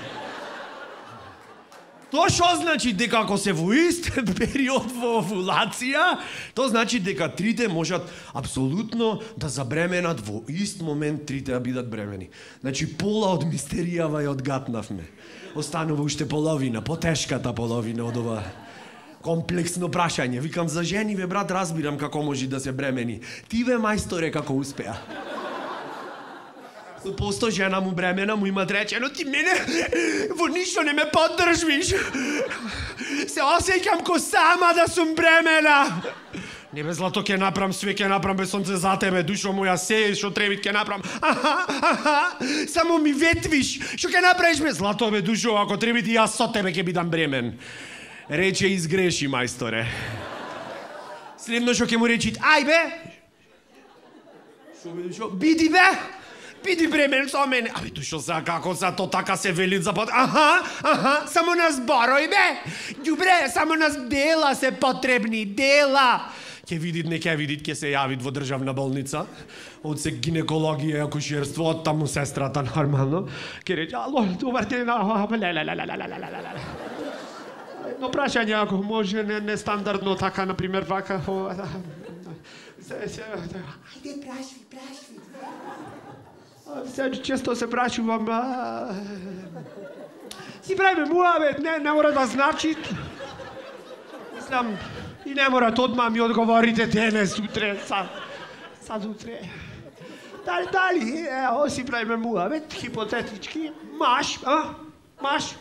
Тоа што значи дека ако се во истен период во овулација, тоа значи дека трите можат апсолутно да забременат во ист момент трите да бидат бремени. Значи пола од мистеријава ја одгатнавме. Останува уште половина, потешката половина од ова комплексно прашање. Викам за жени, ве брат, разбирам како може да се бремени. Ти ве мајсторе како успеа. Посто жена му бремена му има речено, ти мене во ништо не ме поддржвиш. Се осеќам ко сама да сум бремена. Не бе злато ќе направам све, ќе направам бе сонце за тебе, душо моја се, што требит ќе направам. Аха, аха, само ми ветвиш. Што ќе направиш бе злато бе душо, ако требит и јас со тебе ќе бидам бремен. Рече изгреши, мајсторе. Следно што ќе му речи, ај бе. Што бе душо? Биди бе. Биди бремен со мене. Абе, душо за како за то така се вели за под... Аха, аха, само нас барој бе. Добре, само нас дела се потребни, дела. Ке видит, не ке видит, ке се јавит во државна болница. Од се гинекологија и акушерство, од таму сестрата нормално. Ке рече, ало, добар ден, едно прашање, ако може, не, не стандардно така, например, вака... Ајде, прашви, прашви. Сега често се прашувам... Си правиме муавет, не, не мора да значи. Мислам, и не мора одма ми одговорите денес, утре, са, сад утре. Дали, дали, ево си правиме муавет, хипотетички, маш, а? Маш.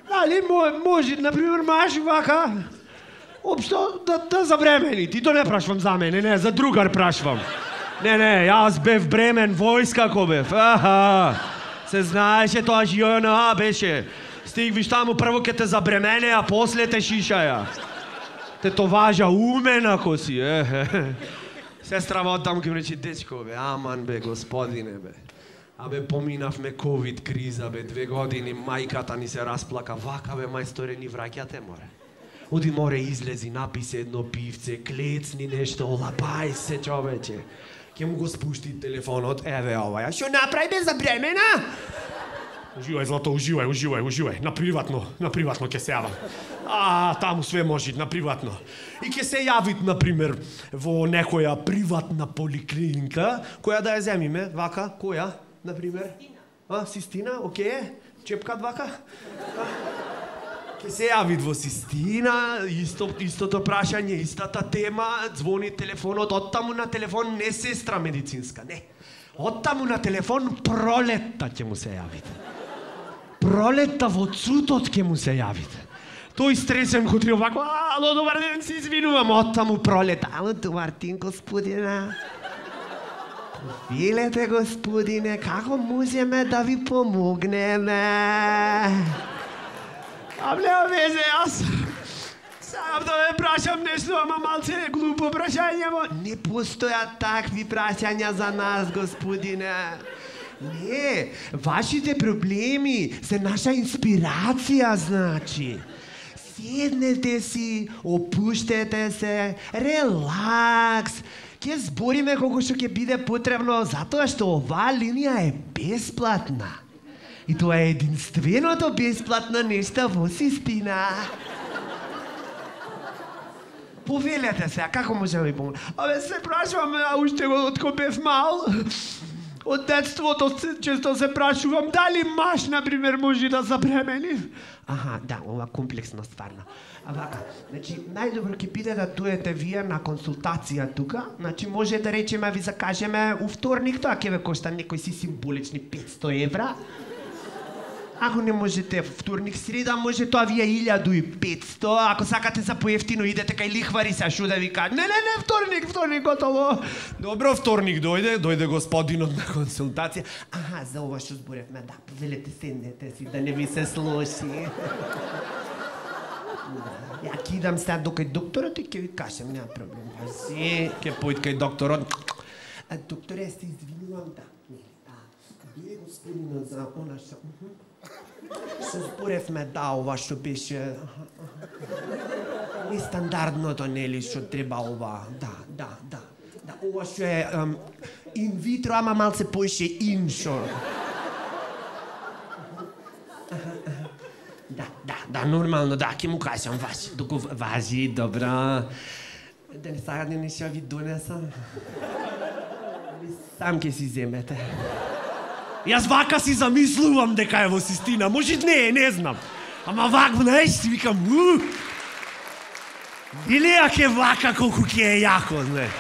Дали, може, например, маш вака, општо да, да забремени. Ти то не прашвам за мене, не, за другар прашвам. Не, не, јас бев бремен, војска ко бев. Аха, се знаеше тоа ЖНА беше. Стигвиш таму, прво ке те забремене, а после те шишаја. Те то важа умен ако си, е. Сестрава од таму ке ми рече, дечко бе, аман бе, господине бе. Абе, поминавме ковид криза бе, две години, мајката ни се расплака, вака бе, мајсторе, ни враќате море. Оди море излези, написе едно пивце, клецни нешто, олапај се, човече. Ке му го спушти телефонот, еве ова, што направи бе за бремена? Уживај, злато, уживај, уживај, уживај, на приватно, на приватно ке се јавам. А, таму све може, на приватно. И ке се јавит, например, во некоја приватна поликлиника, која да ја земиме, вака, која, например? А, Систина, окей, чепкат вака? Ке се јавит во Систина, исто, истото прашање, истата тема, звони телефонот, оттаму на телефон не сестра медицинска, не. Оттаму на телефон Пролетта ќе му се јавит. Пролетта во цутот ќе му се јавит. Тој стресен го трио вако, ало, добар ден, се извинувам, оттаму Пролетта. Ало, добар ден, господина. Филете, господине, како можеме да ви помогнеме? А нема везе, јас сам да ме прашам нешто, ама малце глупо прашање, ама не постојат такви прашања за нас, господине. Не, вашите проблеми се наша инспирација, значи. Седнете си, опуштете се, релакс. Ке збориме колку што ќе биде потребно, затоа што оваа линија е бесплатна. И тоа е единственото бесплатно нешто во Систина. Повелете се, како може да ви помогне? Абе, се прашувам, а уште од кога бев мал, од детството често се прашувам, дали маш, например, може да забремени? Аха, да, ова комплексно стварно. А вака, значи, најдобро ќе биде да дојдете вие на консултација тука, значи може да речеме, ви закажеме у вторник, тоа ќе ве кошта некои си символични петсто евра. Ако не можете вторник, среда, може тоа ви е илјаду и петсто, ако сакате за поевтино идете кај лихвари се, шо да ви кажа. Не, не, не, вторник, вторник, готово. Добро, вторник дојде, дојде господинот на консултација. Аха, за ова што зборевме, да, повелете, седнете си, да не ви се слоши. Ја ќе идам сега до кај докторот и ќе ви кажем, нема проблем. Па си, ќе поид кај докторот. Докторе, се извинувам, да. Бие господинот за она што... Што зборевме, да, ова што беше... Нестандардното, нели, што треба ова. Да, да, да. Да, ова што е инвитро, ама малце поише иншо. Да, да, да, Да, нормално, да, ќе му кажам, важи. Доку важи, добро. Дали сега не нешто ви донесам? Сам ќе си земете. Јас вака си замислувам дека е во систина. Може не, не знам. Ама вак, знаеш, си викам, уу. Или ако е вака, колку ќе е јако, знаеш.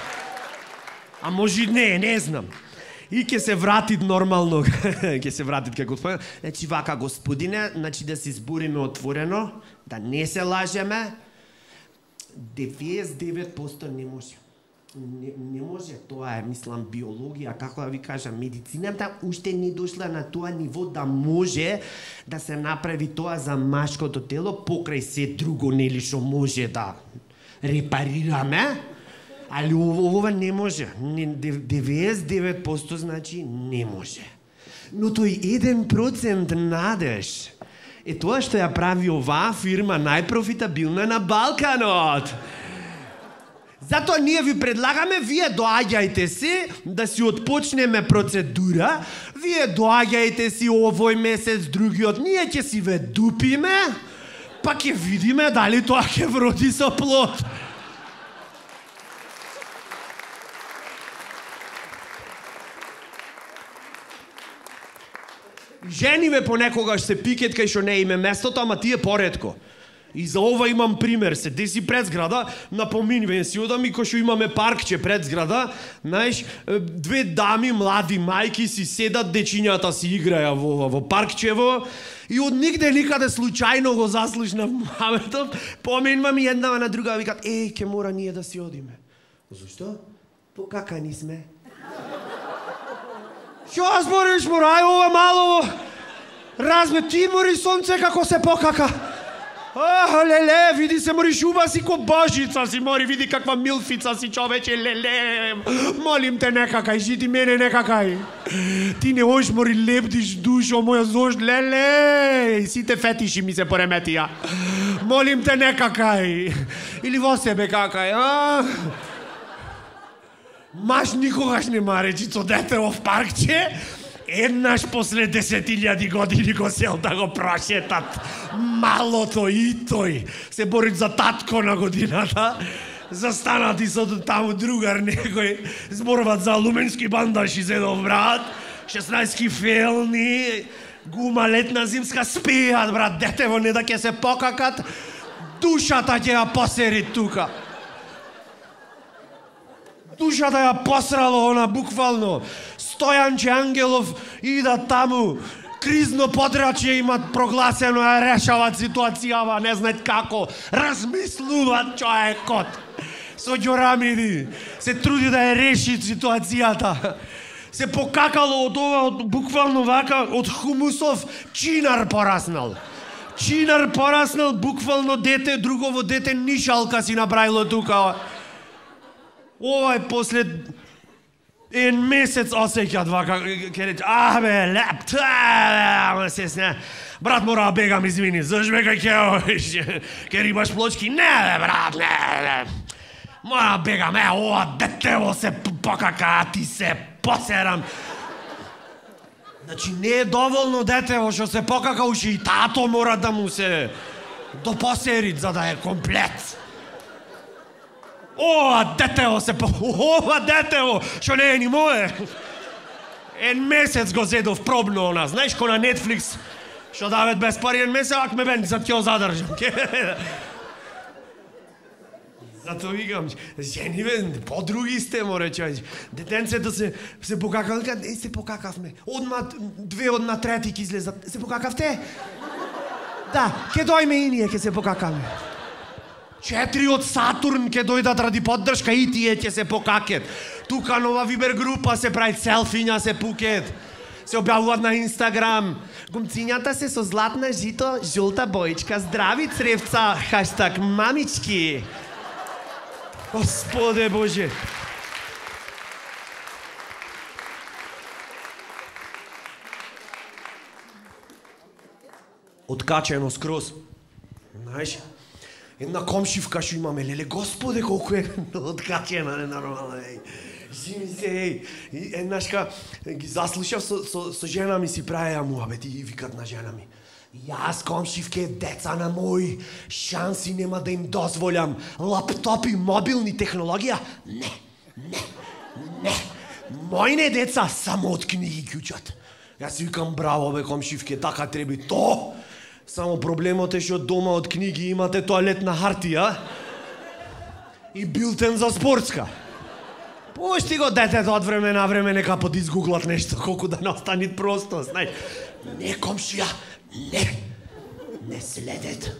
А може не, не знам. И ќе се вратит нормално, ќе се вратит како господин. Значи вака, господине, значи да се збориме отворено, да не се лажеме. деветдесет и девет проценти не може. Не, не може, тоа е, мислам, биологија, како да ви кажам, медицината уште не дошла на тоа ниво да може да се направи тоа за машкото тело, покрај се друго, нели, што може да репарираме, али ова не може. деветдесет и девет проценти значи не може. Но тој еден процент надеж е тоа што ја прави оваа фирма најпрофитабилна на Балканот. Затоа ние ви предлагаме, вие доаѓајте си, да си отпочнеме процедура, вие доаѓајте си овој месец, другиот, ние ќе си ве дупиме, па ќе видиме дали тоа ќе вроди со плод. Жениве понекогаш се пикет кај што не име местото, ама тие поретко. И за ова имам пример, се деси пред зграда, напоминувам си одам и кој што имаме паркче пред зграда, знаеш, две дами, млади мајки си седат, дечињата си играја во, во паркчево, и од нигде никаде случајно го заслушнав муабетот, поминувам и една на друга викат, еј, ке мора ние да си одиме. Зошто? Покакани сме. Што збориш, морај, ова мало, разме, ти мори сонце како се покака. Ах, леле, види се мори шуба си ко божица си мори, види каква милфица си човече, леле. Молим те, не какај, жити мене не какај. Ти не ош мори лепдиш душо моја зош, леле. Сите фетиши ми се пореметија. Молим те, не какај. Или во себе какај, а? Маш никогаш не ма речи со дете в паркче, еднаш после десетилјади години го сел да го прошетат. Малото и тој се борит за татко на годината, застанати со таму другар некој, зборуваат за алуменски бандаш и зедов брат, шеснаесет фелни, гума летна зимска спијат, брат, детево не да ќе се покакат, душата ќе ја посери тука. Душата ја посрало она буквално. Стојанче Ангелов ида таму, кризно подрачје имат прогласено, ја решават ситуацијава, не знаат како, размислуваат човекот. Со ѓорамиди, се труди да ја реши ситуацијата. Се покакало од ова, од, буквално вака, од хумусов чинар пораснал. Чинар пораснал, буквално дете, другово дете, нишалка си направило тука. Овај после ен месец осеќат вака, ке рече, а бе, леп, ама се сне. Брат, мора да бегам, извини, заш бега ке ке рибаш плочки? Не, бе, брат, не, не. Мора да бегам, е, ова детево се покака, а ти се посерам. Значи, не е доволно детево што се покака, уши и тато мора да му се допосерит, за да е комплет. Ова детево се по... Ова детево, што не е ни мое. Ен месец го зедов пробно она, знаеш, ко на Netflix, што дават без пари ен месец, ак ме бен, за ќе задржам. Зато викам, жениве, подруги сте, море човеч. Детенцето се, се покакал, е, се покакавме. Одма, две одна трети ки излезат. Се покакавте? Да, ке дојме и ние, ке се покакаме. Четири од Сатурн ќе дојдат ради поддршка и тие ќе се покакет. Тука нова Вибер група се прави, селфиња се пукет. Се објавуваат на Инстаграм. Гумцињата се со златна жито, жолта боичка. Здрави цревца, хаштаг мамички. Господе Боже. Откачено скроз. Знаеш? Една комшивка што имаме, леле, Господе, колку е откачена, ненормално, еј. Жими се, еј. Еднашка ги заслушав со, со, со жена ми си правеја муабет и викат на жена ми. Јас, комшивке, деца на мои, шанси нема да им дозволям. Лаптопи, мобилни технологија? Не, не, не. Мојне деца само од книги кјучат. Јас викам, браво бе, комшивке, така треби то. Само проблемот е што дома од книги имате тоалетна хартија и билтен за спортска. Пушти го детето од време на време, нека подизгуглат нешто, колку да не остани просто, знај. Не, комшија, не. Не следет.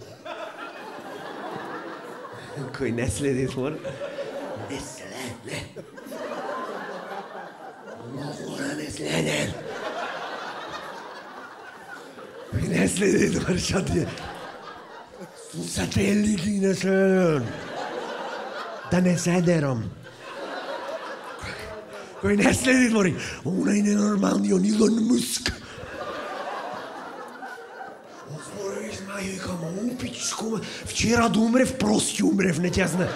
Кој не следит, мора? Не следет. Мора не следет. Кој не следит, мора, шо ти е? Сателити не следет. Да не седерам. Кој не следи, мори, онај ненормалниот Илон Муск. Озбори, знај, викам, упичко, вчера да умрев, прости умрев, не ќе знае.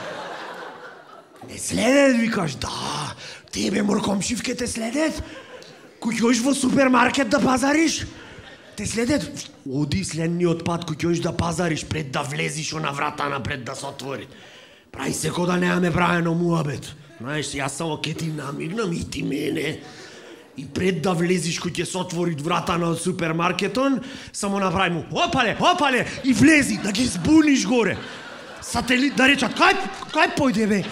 Не следет, викаш, да, тебе, мор, комшивке, те следет? Кој ќоиш во супермаркет да пазариш? Те следет? Оди следниот пат, кој ќоиш да пазариш, пред да влезиш на врата напред да се отвори. Прај се ко да немаме правено муабет. Знаеш, јас само ке ти намигнам и ти мене. И пред да влезиш кој ќе се отвори врата на супермаркетон, само направи му, опале, опале, и влези, да ги збуниш горе. Сателит да речат, кај, кај појде бе?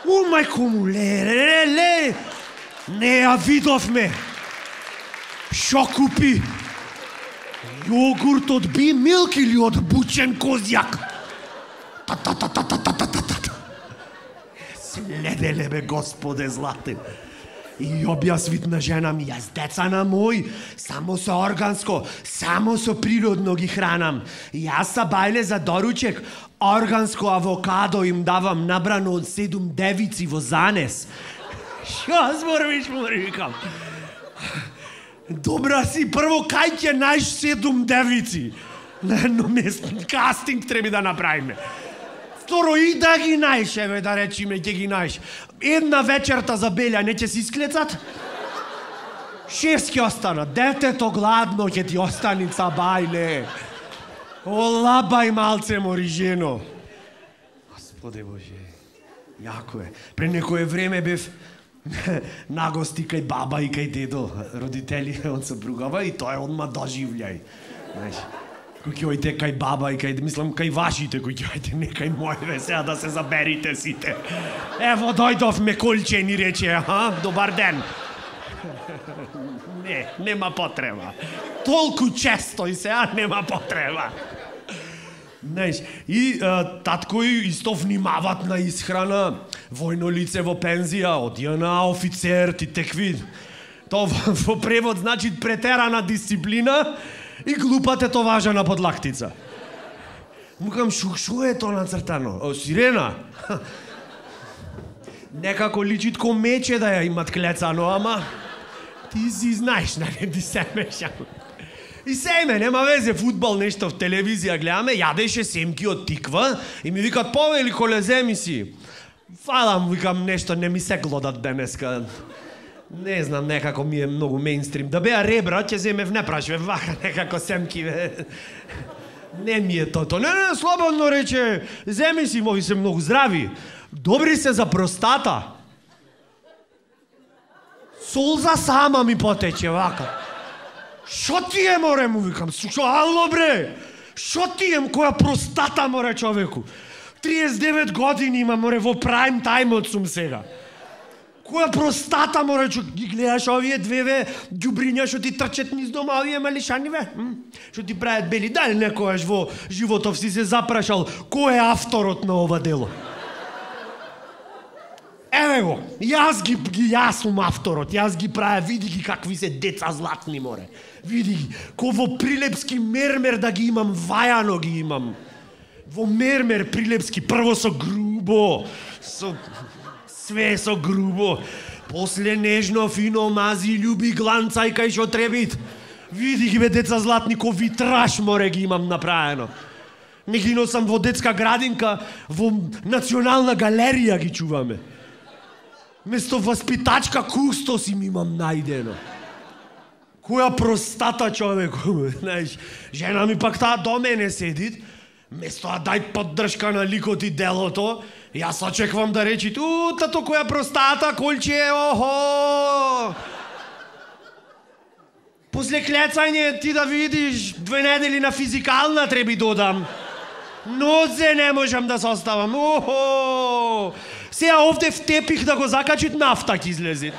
У, мајко му, ле, ле, ле, не ја видовме. Шо купи? Јогурт од Би Милк или од бучен козјак? Та-та-та-та-та-та-та-та-та. Следеле бе, Господе златен. И објас вид на жена ми, јас деца на мој, само со органско, само со природно ги хранам. Јас са бајле за доручек, органско авокадо им давам набрано од седум девици во занес. Шо зборвиш, мори, викам. Добра си, прво кај ќе најш седум девици? На едно место, кастинг треба да направиме. Второ, и да ги најш, еве да речиме, ќе ги најш. Една вечерта за Белја не ќе се исклецат? Шест ќе останат. Детето гладно ќе ти останица, бајле. Олабај малце, мори жено. Господе Боже, јако е. Пре некое време бев нагости кај баба и кај дедо. Родители од сопругава и тоа е одма доживљај. Знаеш, кој ќе ојте кај баба и кај, мислам, кај вашите, кој ќе ојте, не кај мојве, сега да се заберите сите. Ево, дојдовме колчени, рече, ха, добар ден. Не, нема потреба. Толку често и сега нема потреба. Знаеш, и а, татко исто внимават на исхрана, војно лице во пензија, одија на офицер, ти текви. Тоа во, во превод значи претерана дисциплина и глупа тетоважа на подлактица. Мукам, шо, шо е тоа нацртано? О, сирена? Некако личит ко мече да ја имат клецано, ама ти си знаеш, нали, ти се мешам. И семе, нема везе, фудбал, нешто в телевизија гледаме, јадеше семки од тиква и ми викат, повели коле, земи си. Фалам, викам, нешто не ми се глодат денеска. Не знам, некако ми е многу мейнстрим. Да беа ребра, ќе земев, не прашве, вака некако семки, бе. Не ми е тото. Не, не, слободно рече, земи си, мои се многу здрави. Добри се за простата. Солза сама ми потече, вака. Шо ти е, море, му викам, шо, ало, бре, шо ти е, која простата, море, човеку. триесет и девет години има, море, во прайм тајмот сум сега. Која простата, море, чу, ги гледаш овие двеве ѓубриња што ти трчат низ дома, овие малишани, бе, што ти правят бели, дали некојаш во животов си се запрашал, кој е авторот на ова дело? Еве го, јас ги, ги јас сум авторот, јас ги правя, види ги какви се деца златни, море. Види ги, ко во прилепски мермер да ги имам, вајано ги имам. Во мермер прилепски, прво со грубо, со... све со грубо. После нежно, фино, мази, љуби, гланцај кај шо требит. Види ги, бе, деца златни, ко витраж, море, ги имам направено. Не ги носам во детска градинка, во Национална галерија ги чуваме. Место васпитачка кустос им имам најдено. Која простата, човеку, знаеш, жена ми пак таа до мене седит, место да дај поддршка на ликот и делото, јас очеквам да речи, у, тато која простата, колче, охо! После клецање ти да видиш, две недели на физикална треби додам. Нозе не можам да се оставам, охо! Сега овде втепих да го закачит нафта ќе излезе.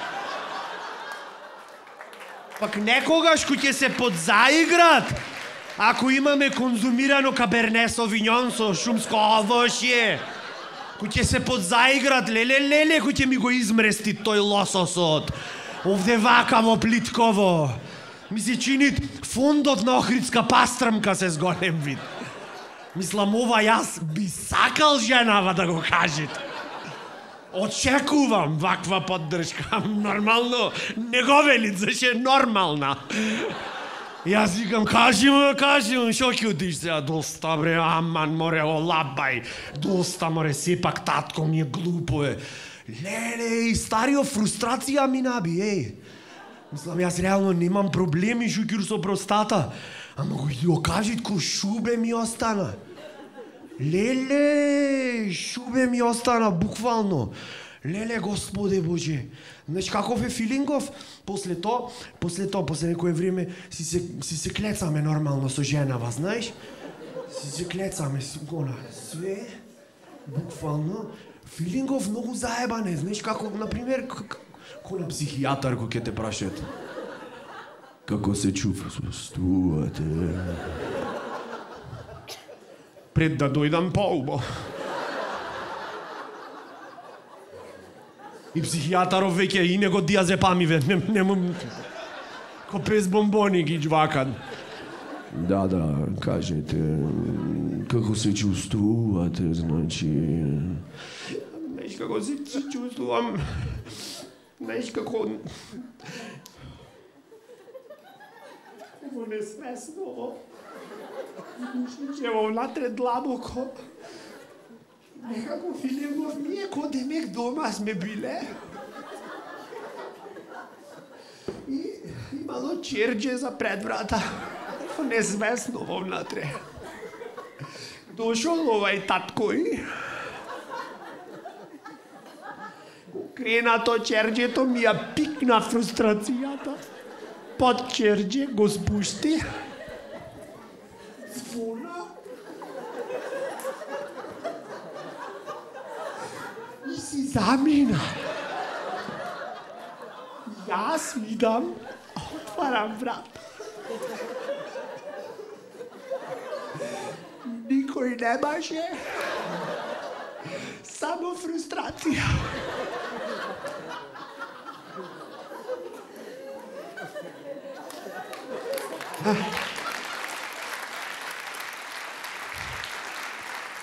Пак некогаш кој ќе се подзаиграт, ако имаме конзумирано каберне совиньон со шумско овошје, кој ќе се подзаиграт, леле, леле, кој ќе ми го измрести тој лососот. Овде вакаво плитково. Ми се чинит фондот на Охридска пастрмка се зголем вид. Мислам, ова јас би сакал женава да го кажете. Очекувам ваква поддршка. Нормално, не го велит, зашто е нормална. Јас викам, кажи му, кажи му, шо ќе одиш сега? Доста, бре, аман, море, олабај. Доста, море, сепак татко ми е глупо е. Леле, и старио фрустрација ми наби, еј. Мислам, јас реално немам проблеми, шукир со простата. Ама го ја кажит, ко шубе ми остана. Леле, шубе ми остана, буквално. Леле, Господе Боже. Знаеш каков е филингов? После то, после то, после некое време си се, си се клецаме нормално со женава, знаеш? Си се клецаме, си гона. Све, буквално. Филингов многу заебане, знаеш како, например, ко на психијатар кој ќе те прашат. Како се чувствувате? Пред да дојдам поубо. И психијатаров веќе и него диазепамиве, не, нема... Ко пес бомбони ги джвакат. Да, да, кажете, како се чувствувате, значи... Знаеш како се чувствувам... Знаеш како... Ово несвесно, Ево внатре длабоко. Некако филингов ние ко демек дома сме биле. И имало черџе за пред врата. Незвестно во внатре. Дошол овај таткој. Крена то черџето ми ја пикна фрустрацијата. Под черџе го спушти. Звона. И си замина. Јас видам, отварам врата. Никој не баше. Само фрустрација.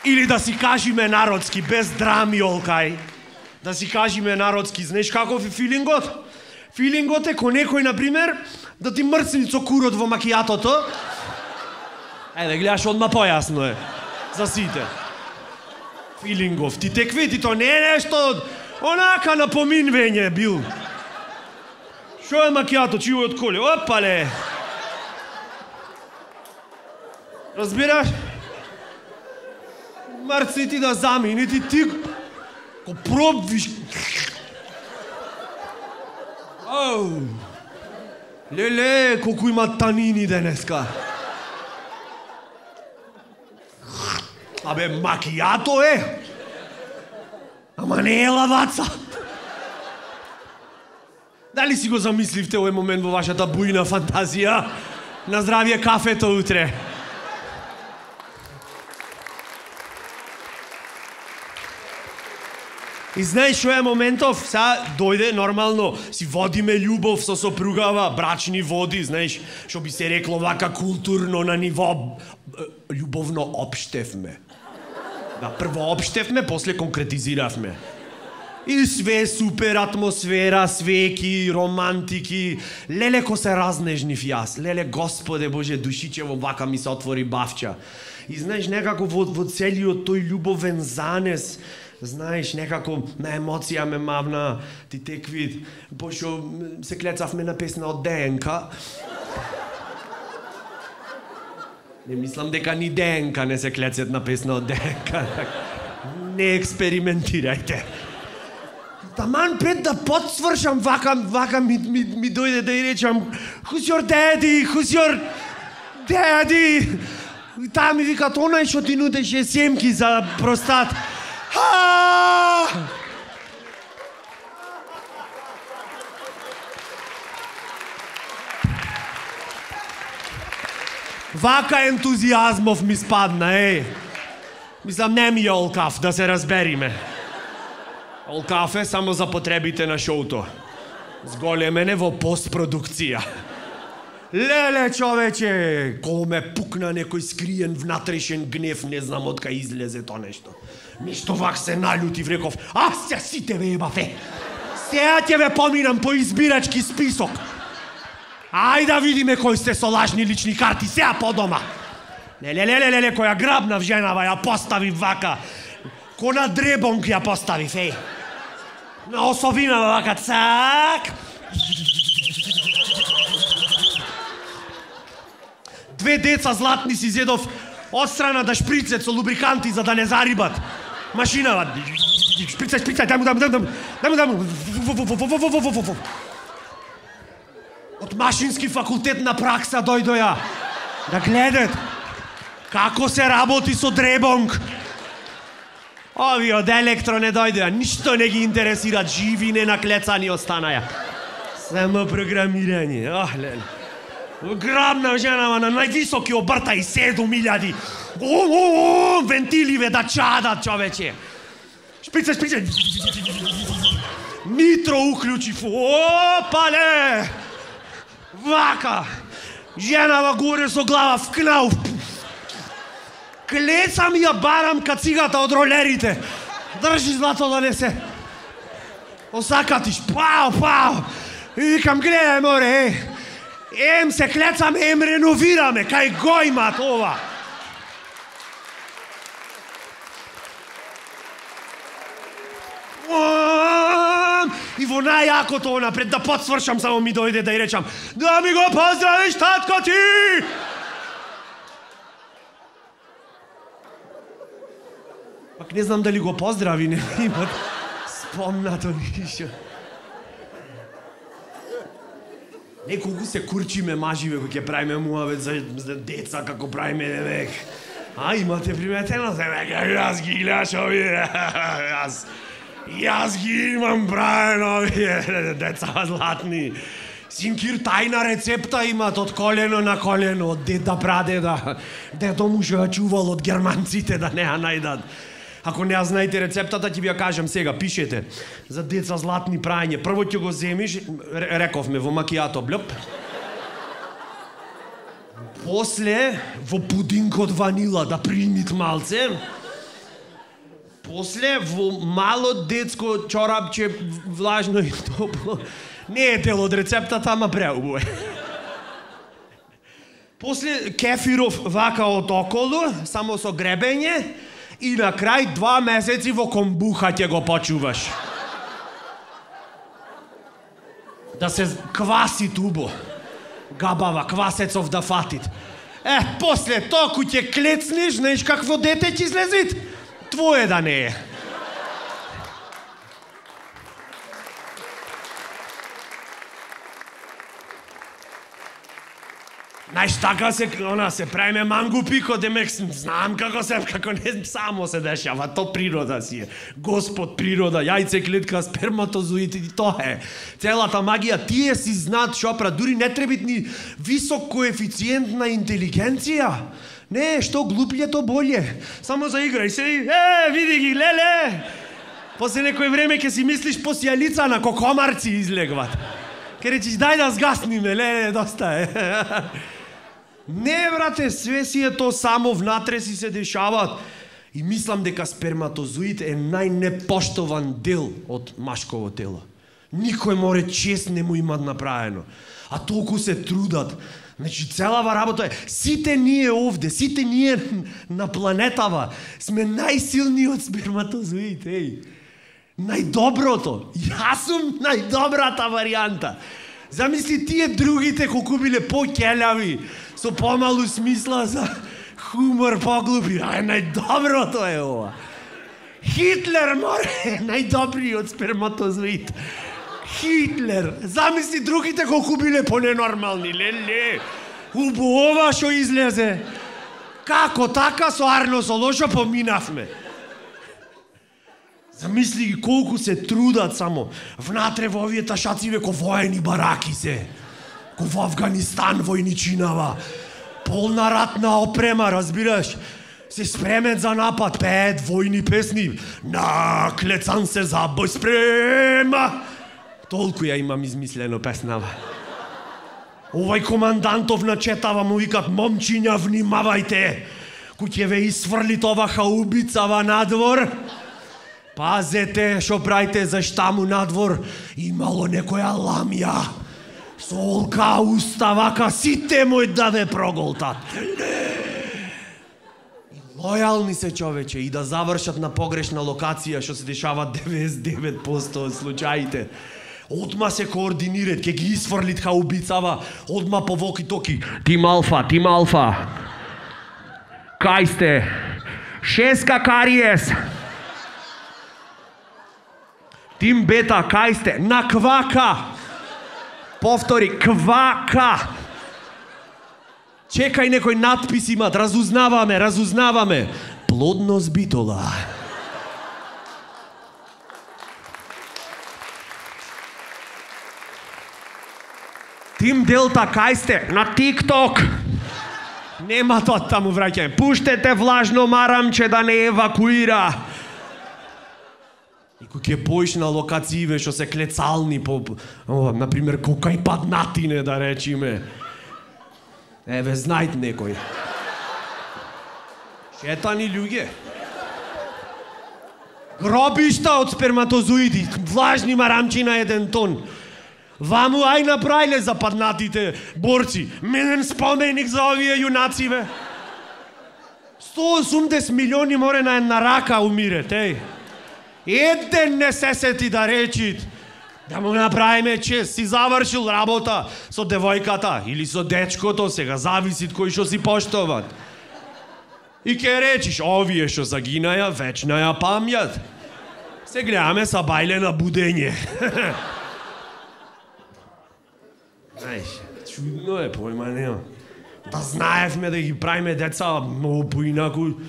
Или да си кажиме народски, без драми, Олкај. Да си кажиме народски, знаеш каков е филингот? Филингот е ко некој, например, да ти мрцни цокурот во макијатото. Ајде, гледаш, одма појасно е. За сите. Филингов. Ти текви, ти то не е нешто, онака напоминвење бил. Шо е макијато, чиво од коле? Опале! Разбираш? Мрцни ти да замини, ти ти... Ко пробвиш... Оу! Леле, колку има танини денеска. Абе, макијато е! Ама не е лаваца! Дали си го замисливте овој момент во вашата бујна фантазија? На здравје кафето утре. И знаеш што е моментов? Сега дојде нормално, си водиме љубов со сопругава, брачни води, знаеш, што би се рекло вака културно на ниво љубовно општевме. Да, прво општевме, после конкретизиравме. И све супер атмосфера, свеки, романтики. Леле ко се разнежнив јас. Леле, Господе Боже, душичево вака ми се отвори бавча. И знаеш, некако во, во целиот тој љубовен занес, знаеш, некако на емоција ме мавна, ти текви, пошто се клецавме на песна од ДНК. Не мислам дека ни ДНК не се клецет на песна од ДНК. Не експериментирајте. Таман пред да подсвршам, вака, вака ми, ми, ми дојде да и речам Who's your daddy? Who's your daddy? И таа ми вика, онај што ти нудеше семки за простат. Вака ентузијазмов ми спадна, еј. Мислам, не ми е олкав, да се разбериме. Олкав е само за потребите на шоуто. Зголемене во постпродукција. Леле, човече, кога ме пукна некој скриен внатрешен гнев, не знам од кај излезе то нешто. Ништо вак се налјутив, реков, а се сите ве ебаве. Сеја ќе ве поминам по избирачки список. Ај да видиме кои сте со лажни лични карти, сеја по дома. Леле, леле, леле, која грабнав женава, ја постави вака. Ко на дребонк ја постави, феј. На осовина вака, цак. Две деца златни си зедов отстрана да шприцет со лубриканти за да не зарибат. Машинава. Шприцај, шприцај, дај му, дај му, дај му, дај му, дај му. Од машински факултет на пракса дојдоја. Да гледат како се работи со дребонк. Ови од електро не дојдеа, ништо не ги интересира, живи не наклецани останаја. Само програмирање, ох, леле. Грабна женава на највисоки обртаи седум илјади. О, вентиливе да чадат, човече. Шприце, шприце. Нитро уклучив. Опале! Вака. Женава горе со глава вкнав. Клецам ја барам кацигата од ролерите. Држи злато да не се осакатиш. Пау, пау. И викам, гледај, море, е. Ем се клецаме, ем реновираме, кај го имат ова. И во најакото она, пред да подсвршам, само ми дојде да и речам, да ми го поздравиш, татко ти! Пак не знам дали го поздрави, не имат спомнато ништо. Неколку се курчиме маживе кои ќе правиме муавет за, за деца, како правиме девек. А, имате приметено се века, јас ги гледаш овие, јас, јас ги имам правено овие деца златни. Синкир тајна рецепта имат од колено на колено, од деда прадеда. Дедо му што ја чувал од германците да не ја најдат. Ако не ја знаете рецептата, ќе ви ја кажам сега, пишете. За деца златни прајање. Прво ќе го земиш, рековме, во макијато, блјоп. После, во пудинг од ванила, да примит малце. После, во мало детско чорапче, влажно и топло. Не е дел од рецептата, ама преубаво е. После, кефиров вака од околу, само со гребење. И на крај два месеци во комбуха ќе го почуваш. Да се кваси тубо. Габава, квасецов да фатит. Е, после току ќе клецнеш, знаеш какво дете ќе излезит? Твое да не е. Знаеш, така се, она, се правиме мангу пико, демек знам како се, како не само се дешава, то природа си е. Господ природа, јајце, клетка, сперматозоид и тоа е. Целата магија, тие си знаат шопра, дури не требит ни висок коефициент на интелигенција. Не, што глуплје, то болje. Само заиграј се и, е, види ги, леле! После некој време ќе си мислиш по сијалица на кокомарци излегват. Ке речиш, дај да сгасниме, леле, доста е. Не, брате, све си е то само внатре си се дешаваат. И мислам дека сперматозоид е најнепоштован дел од машково тело. Никој море чест не му имат направено. А толку се трудат. Значи, целава работа е, сите ние овде, сите ние на планетава сме најсилниот сперматозоид, еј. Најдоброто. Јас сум најдобрата варијанта. Замисли тие другите колку биле по-келјави, со помалу смисла за хумор поглупи, а најдоброто е ова. Хитлер море, најдобриот сперматозоид. Хитлер, замисли другите колку биле поненормални, леле. Убава што излезе. Како така со Арно Солошо поминавме. Замисли ги колку се трудат само. Внатре во овие ташациве ко воени бараки се. Ко во Афганистан војничинава. Полна ратна опрема, разбираш? Се спремен за напад, пеет војни песни. Наклецан се за бој спрема. Толку ја имам измислено песнава. Овај командантов начетава му викат: момчиња, внимавајте. Кој ќе ве исфрлит ова хаубицава надвор. Пазете што правите, зашта му надвор имало некоја ламја. Со олка уста вака сите мој да ве проголтат. Лојални се, човече, и да завршат на погрешна локација, што се дешава деветдесет и девет проценти од случаите. Одма се координират, ке ги исфрлит хаубицава, одма по воки-токи. Тим Алфа, Тим Алфа. Кај сте? Шеска Кариес. Тим Бета, кај сте? На Квака. Повтори, Квака. Чекај, некој надпис имат, разузнаваме, разузнаваме. Плодност битола. Тим Делта, кај сте? На ТикТок. Нема тоа таму враќање. Пуштете влажно марамче да не евакуира. И кој ќе поиш на локацииве што се клецални по, о, например, кокај паднатине, да речиме. Еве, знајт некој. Шетани луѓе. Гробишта од сперматозоиди, влажни марамчи на еден тон. Ваму ај направиле за паднатите борци. Менен споменик за овие јунациве. сто и осумдесет милиони море на една рака умирет, еј. Еден не се сети да речит. Да му направиме чест, си завршил работа со девојката или со дечкото, сега зависи кој што си поштоват. И ке речиш, овие што загинаја, вечна ја памјат. Се гледаме са бајле на будење. Знаеш, чудно е, појма нема. Да знаевме да ги правиме деца многу поинаку.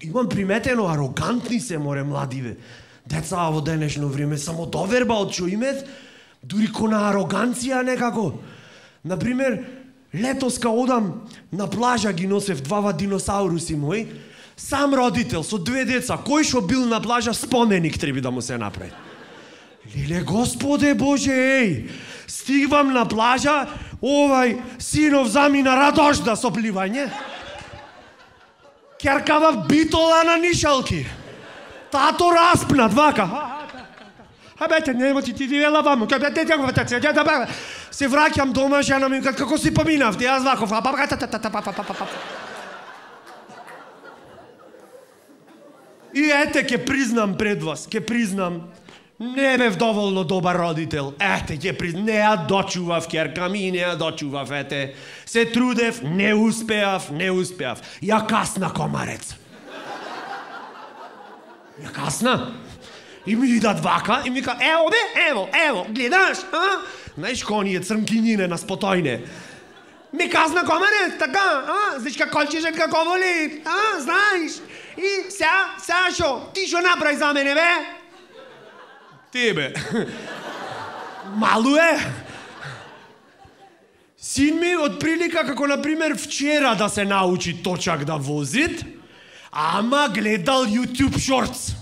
Имам приметено, арогантни се море младиве. Деца во денешно време само доверба од што имет, дури кона ароганција некако. Например, летос ка одам на плажа, ги носев двава диносауруси мои, сам родител со две деца, кој што бил на плажа, споменик треба да му се направи. Леле, Господе Боже, еј, стигвам на плажа, овај синов замина радожда со пливање. Керкава битола на нишалки. Тато распнат, вака. Абете, нема ти ти вела ваму. Се враќам дома, жена ми, како си поминавте, јас ваков. И ете, ке признам пред вас, ке признам, не бев доволно добар родител. Ете, ќе признам, не ја дочував керка ми, не ја дочував, ете. Се трудев, не успеав, не успеав. Ја касна комарец. Ја касна. И ми идат вака, и ми ка, ево бе, ево, ево, гледаш, а? Знаеш, коние црмкинине на спотојне. Ми касна комарец, така, а? Знаеш как колчешет како воли, а? Знаеш? И сега, сега шо, ти шо направи за мене, бе? Тебе. Малу е. Син ми од прилика како, например, вчера да се научи точак да возит, ама гледал YouTube Shorts.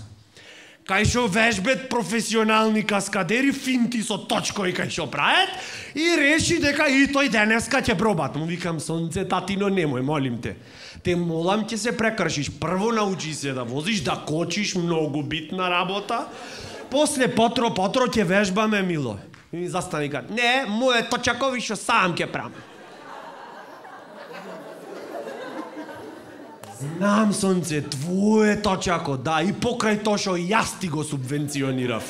Кај шо вежбет професионални каскадери, финти со точкои кај шо прават, и реши дека и тој денеска ќе пробат. Му викам, сонце, татино, немој, молим те. Те молам, ќе се прекршиш. Прво научи се да возиш, да кочиш, многу битна работа. После потро, потро ќе вежбаме, мило. И ми застани кат, не, моје точакови шо сам ќе правам. Знам, сонце, твое точако, да, и покрај то шо јас ти го субвенционирав.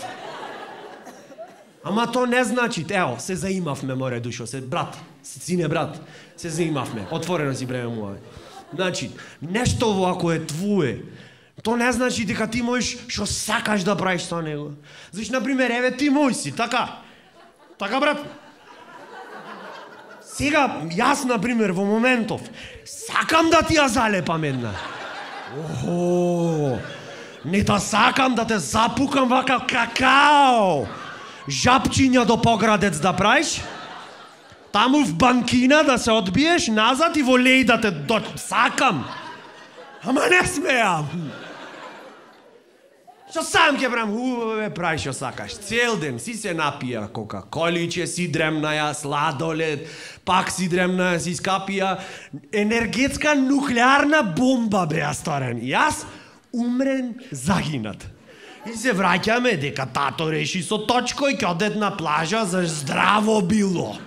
Ама то не значи, ево, се заимавме, море душо, се брат, се сине брат, се заимавме, отворено си бреме моје. Значи, нешто ако е твое, то не значи дека ти можеш што сакаш да правиш со него. Зашто, например, еве ти мој си, така. Така, брат. Сега, јас, например, во моментов, сакам да ти ја залепам една. Охо, не да сакам да те запукам вака какао. Жапчиња до поградец да правиш, таму в банкина да се одбиеш, назад и во леј да те до... Сакам. Ама не смеам. Што сам ќе правам, убаве прави што сакаш. Цел ден си се напија кока-количе, си дремнаја, сладолед, пак си дремнаја, си скапија. Енергетска нуклеарна бомба беа сторен. Јас умрен, загинат. И се враќаме дека тато реши со точко и ќе одет на плажа за здраво било.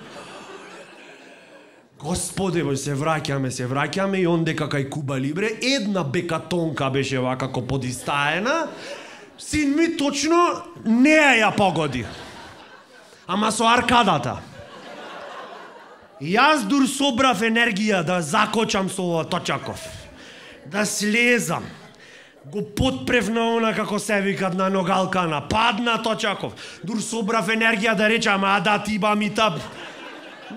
Господе, бо се враќаме, се враќаме и ондека кај Куба Либре една бекатонка беше вакако подистаена. Син ми точно неа ја погоди. Ама со аркадата. И јас дур собрав енергија да закочам со ова Точаков. Да слезам. Го потпрев на она како се викат на ногалкана. Падна Точаков. Дур собрав енергија да речам, а да ти ба ми та...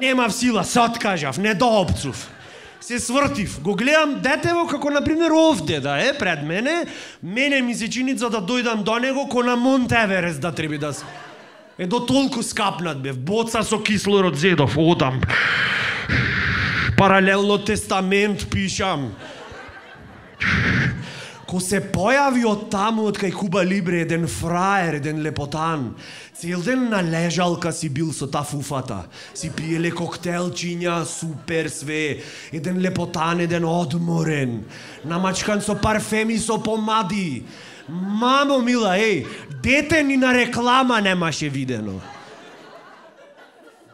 Немав сила, се откажав, не доопцув. Се свртив, го гледам детево како, например, овде да е пред мене, мене ми се чини за да дојдам до него ко на Монт Еверест да треба да се... Е до толку скапнат бев, боца со кислород зедов, одам. Паралелно тестамент пишам. Ко се појави од таму, од кај Куба Либре, еден фраер, еден лепотан, цел ден на лежалка си бил со та фуфата. Си пиеле коктелчиња, супер све. Еден лепотан, еден одморен. Намачкан со парфеми, со помади. Мамо мила, еј, дете ни на реклама немаше видено.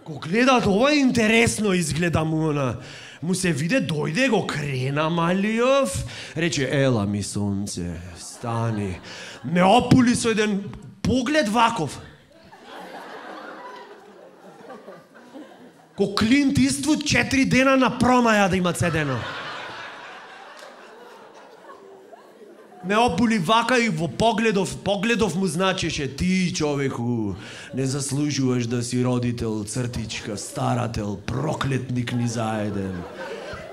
Ко гледат, ова интересно изгледа му на... Му се виде, дојде, го крена Малиов, рече, ела ми сонце, стани. Ме опули со еден поглед ваков. Ко Клинт Иствуд четири дена на промаја да има цедено. Ме опули вака и во погледов, погледов му значеше, ти, човеку, не заслужуваш да си родител, цртичка, старател, проклетник ни заеден.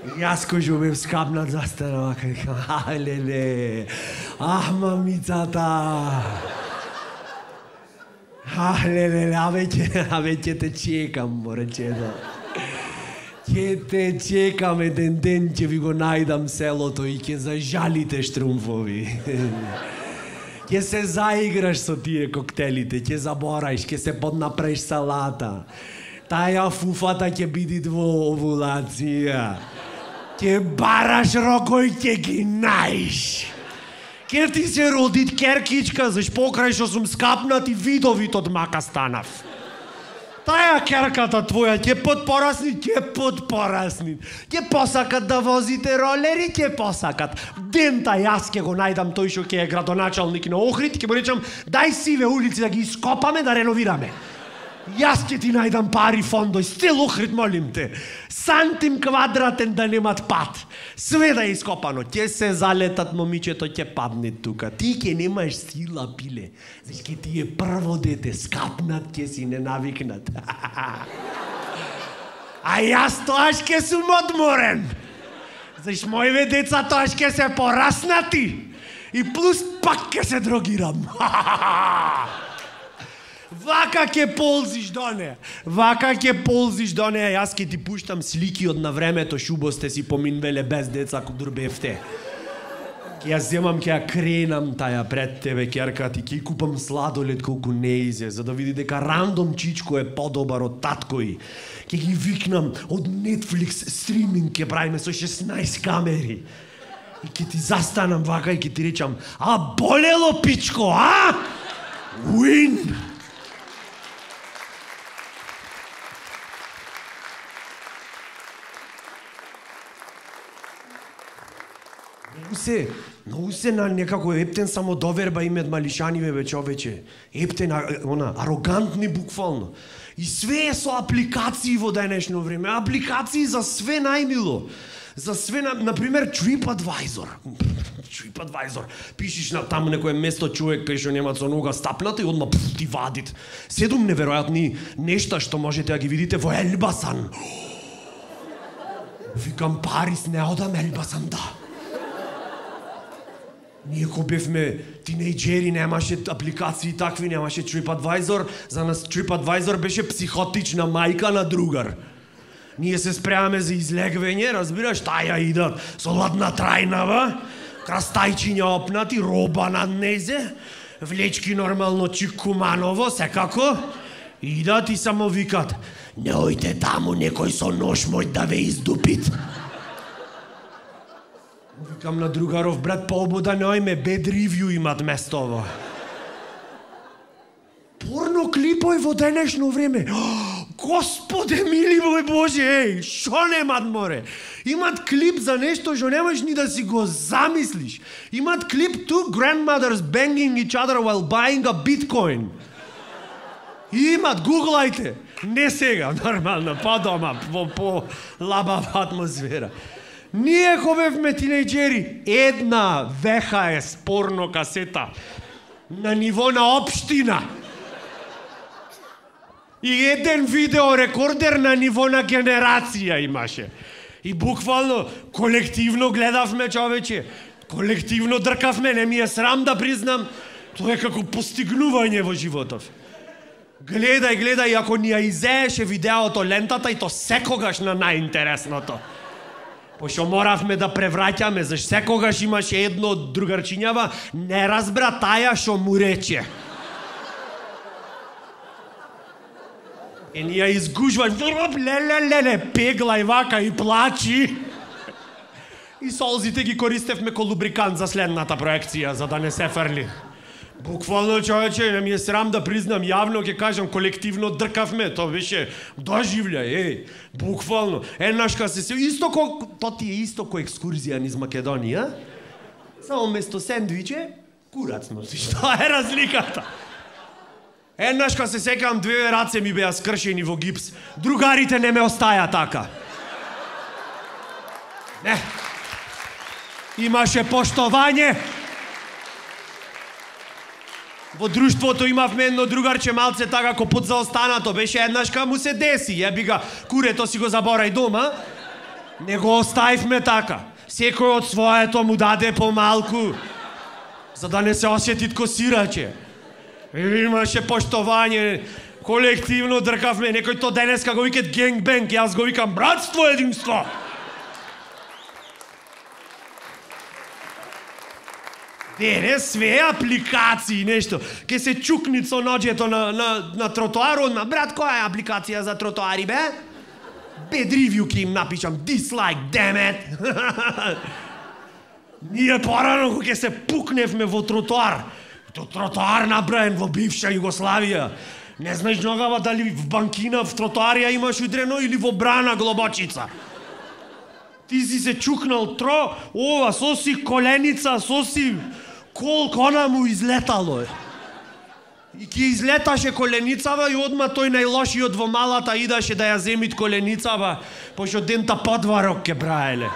И јас кој бев скапнат застана вака и кам, алеле, ах, мамицата. Алеле, а веќе, а веќе те чекам, моречето. Ќе те чекам еден ден, ќе ви го најдам селото и ќе зажалите штрумфови. Ќе се заиграш со тие коктелите, ќе забораиш, ќе се поднапреш салата. Таја фуфата ќе биде во овулација. Ќе бараш рокој, ќе ги наиш. Ќе ти се родит керкичка, заш покрај што сум скапнат и видовит од мака станав. Таја керката твоја ќе подпорасни, ќе подпорасни. Ќе посакат да возите ролери, ќе посакат. Дента јас ќе го најдам тој што ќе е градоначалник на Охрид, ќе му речам, дај сиве улици да ги ископаме, да реновираме. Јас ќе ти најдам пари фондој, цел Охрид, молим те. Сантим квадратен да немат пат. Све да е ископано, ќе се залетат момичето, ќе падне тука. Ти ќе немаш сила, пиле. Заш ќе ти е прво дете, скапнат ќе си не навикнат. А јас тоаш ќе сум одморен. Заш мојве деца тоаш ќе се пораснати. И плюс пак ќе се дрогирам. Вака ќе ползиш до нея. Вака ќе ползиш до нея. Јас ќе ти пуштам слики од на времето шубо сте си поминвеле без деца дур бевте. Ќе ја земам, ќе ја кренам таја пред тебе, керка, ти ќе купам сладолед колку не изе, за да види дека рандом чичко е подобар од таткој. Ќе ги викнам од Netflix стриминг, ќе правиме со шеснаесет камери. И ќе ти застанам вака и ќе ти речам, а болело пичко, а? Win! Многу се, многу се на некако ептен самодоверба имет малишаниве бе човече. Ептен, она, арогантни буквално. И све е со апликации во денешно време. Апликации за све најмило. За све, на, например, TripAdvisor. TripAdvisor. Пишиш на таму некое место човек кај што нема со нога стапната и одма пф, ти вадит. Седум неверојатни нешта што можете да ги видите во Елбасан. Викам, Парис не одам, Елбасан да. Ние ко бевме тинејџери, немаше апликации такви, немаше TripAdvisor. За нас TripAdvisor беше психотична мајка на другар. Ние се спремаме за излегвење, разбираш, таја идат со ладна трајнава, крастајчиња опнати, роба над незе, влечки нормално чикуманово, секако, идат и само викат, не ојте таму, некој со нож мој да ве издупит. Викам на другаров, брат, пообода не ојме, bad review имат местово. Порно клипови во денешно време. Господе мили мој Боже, еј, шо немат море? Имат клип за нешто што немаш ни да си го замислиш. Имат клип two grandmothers banging each other while buying a bitcoin. Имат, гуглајте. Не сега, нормално, па дома, по, по лабава атмосфера. Ние ко бевме тинејџери, една V H S порно касета на ниво на општина. И еден видеорекордер на ниво на генерација имаше. И буквално колективно гледавме, човече. Колективно дркавме, не ми е срам да признам. Тоа е како постигнување во животов. Гледај, гледај, ако ни ја изееше видеото лентата и то секогаш на најинтересното. Пошто моравме да превраќаме, зашто секогаш имаше едно од другарчињава, не разбра таја што му рече. И ни ја изгужва, леле, пегла и вака и плачи. И солзите ги користевме ко лубрикант за следната проекција, за да не се фрли. Буквално, човече, не ми е срам да признам, јавно ќе кажам, колективно дркавме, тоа беше доживљај, еј, буквално. Еднаш ка се се, исто ко, тоа ти е исто ко екскурзија низ Македонија, само место сендвиче, курац носиш, тоа е разликата. Еднаш ка се секам, две раце ми беа скршени во гипс, другарите не ме остаја така. Не. Имаше поштовање. Во друштвото имавме едно другарче малце така ко подзаостанато, беше еднашка му се деси, јеби ga, курето си го заборај дома, не го оставивме така. Секој од своето му даде помалку, за да не се осетит ко сираче. Имаше поштовање, колективно дркавме, некој то денеска го викат генгбенг, јас го викам братство, единство. Денес све апликации, нешто. Ке се чукнит со ноѓето на, на, на тротоарот, на брат, која е апликација за тротоари, бе? Bad review ке им напишам, dislike, damn it. Ние порано кога ке се пукневме во тротоар, то тротоар набраен во бивша Југославија. Не знаеш ногава дали в банкина, в тротоарија имаш удрено или во брана глобочица. Ти си се чукнал тро, ова, соси коленица, соси колко она му излетало е. И ки излеташе коленицава и одма тој најлошиот во малата идаше да ја земит коленицава, пошто дента подварок ке браеле.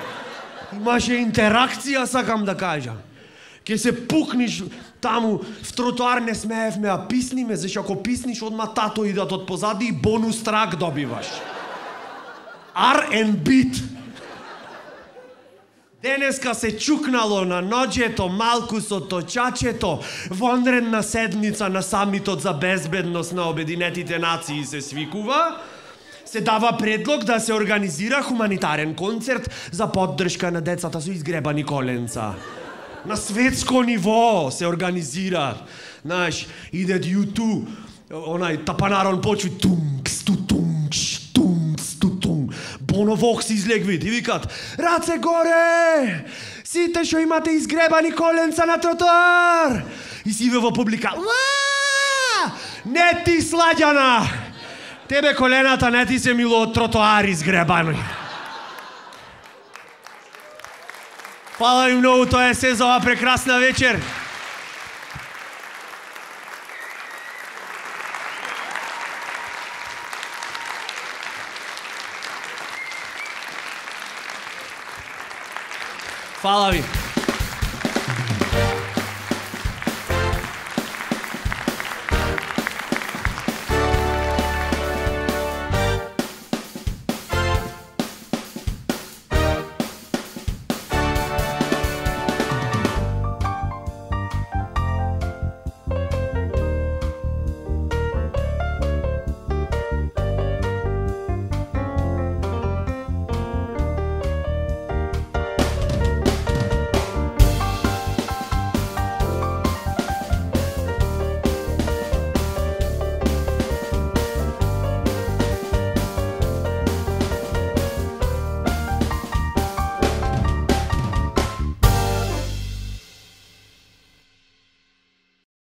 Имаше интеракција, сакам да кажам. Ке се пукниш таму, в тротоар не смеевме, а писниме, зашто ако писниш, одма тато идат од позади и бонус трак добиваш. Ар енд бит. Денеска се чукнало на ноѓето малку со точачето, вонредна седница на самитот за безбедност на Обединетите нации се свикува. Се дава предлог да се организира хуманитарен концерт за поддршка на децата со изгребани коленца. На светско ниво се организира. Знаеш, идет ю ту, онај тапанарон почви тумкс, тутумкш, тумкс, тутум. Боно Вокс излегви и викат: раце горе! Сите што имате изгребани коленца на тротоар! И си во публика: уа! Не ти, Сладјана! Тебе колената не ти се мило од тротоар изгребани. Фала ви многу, тоа е се за ова прекрасна вечер. Фала ви.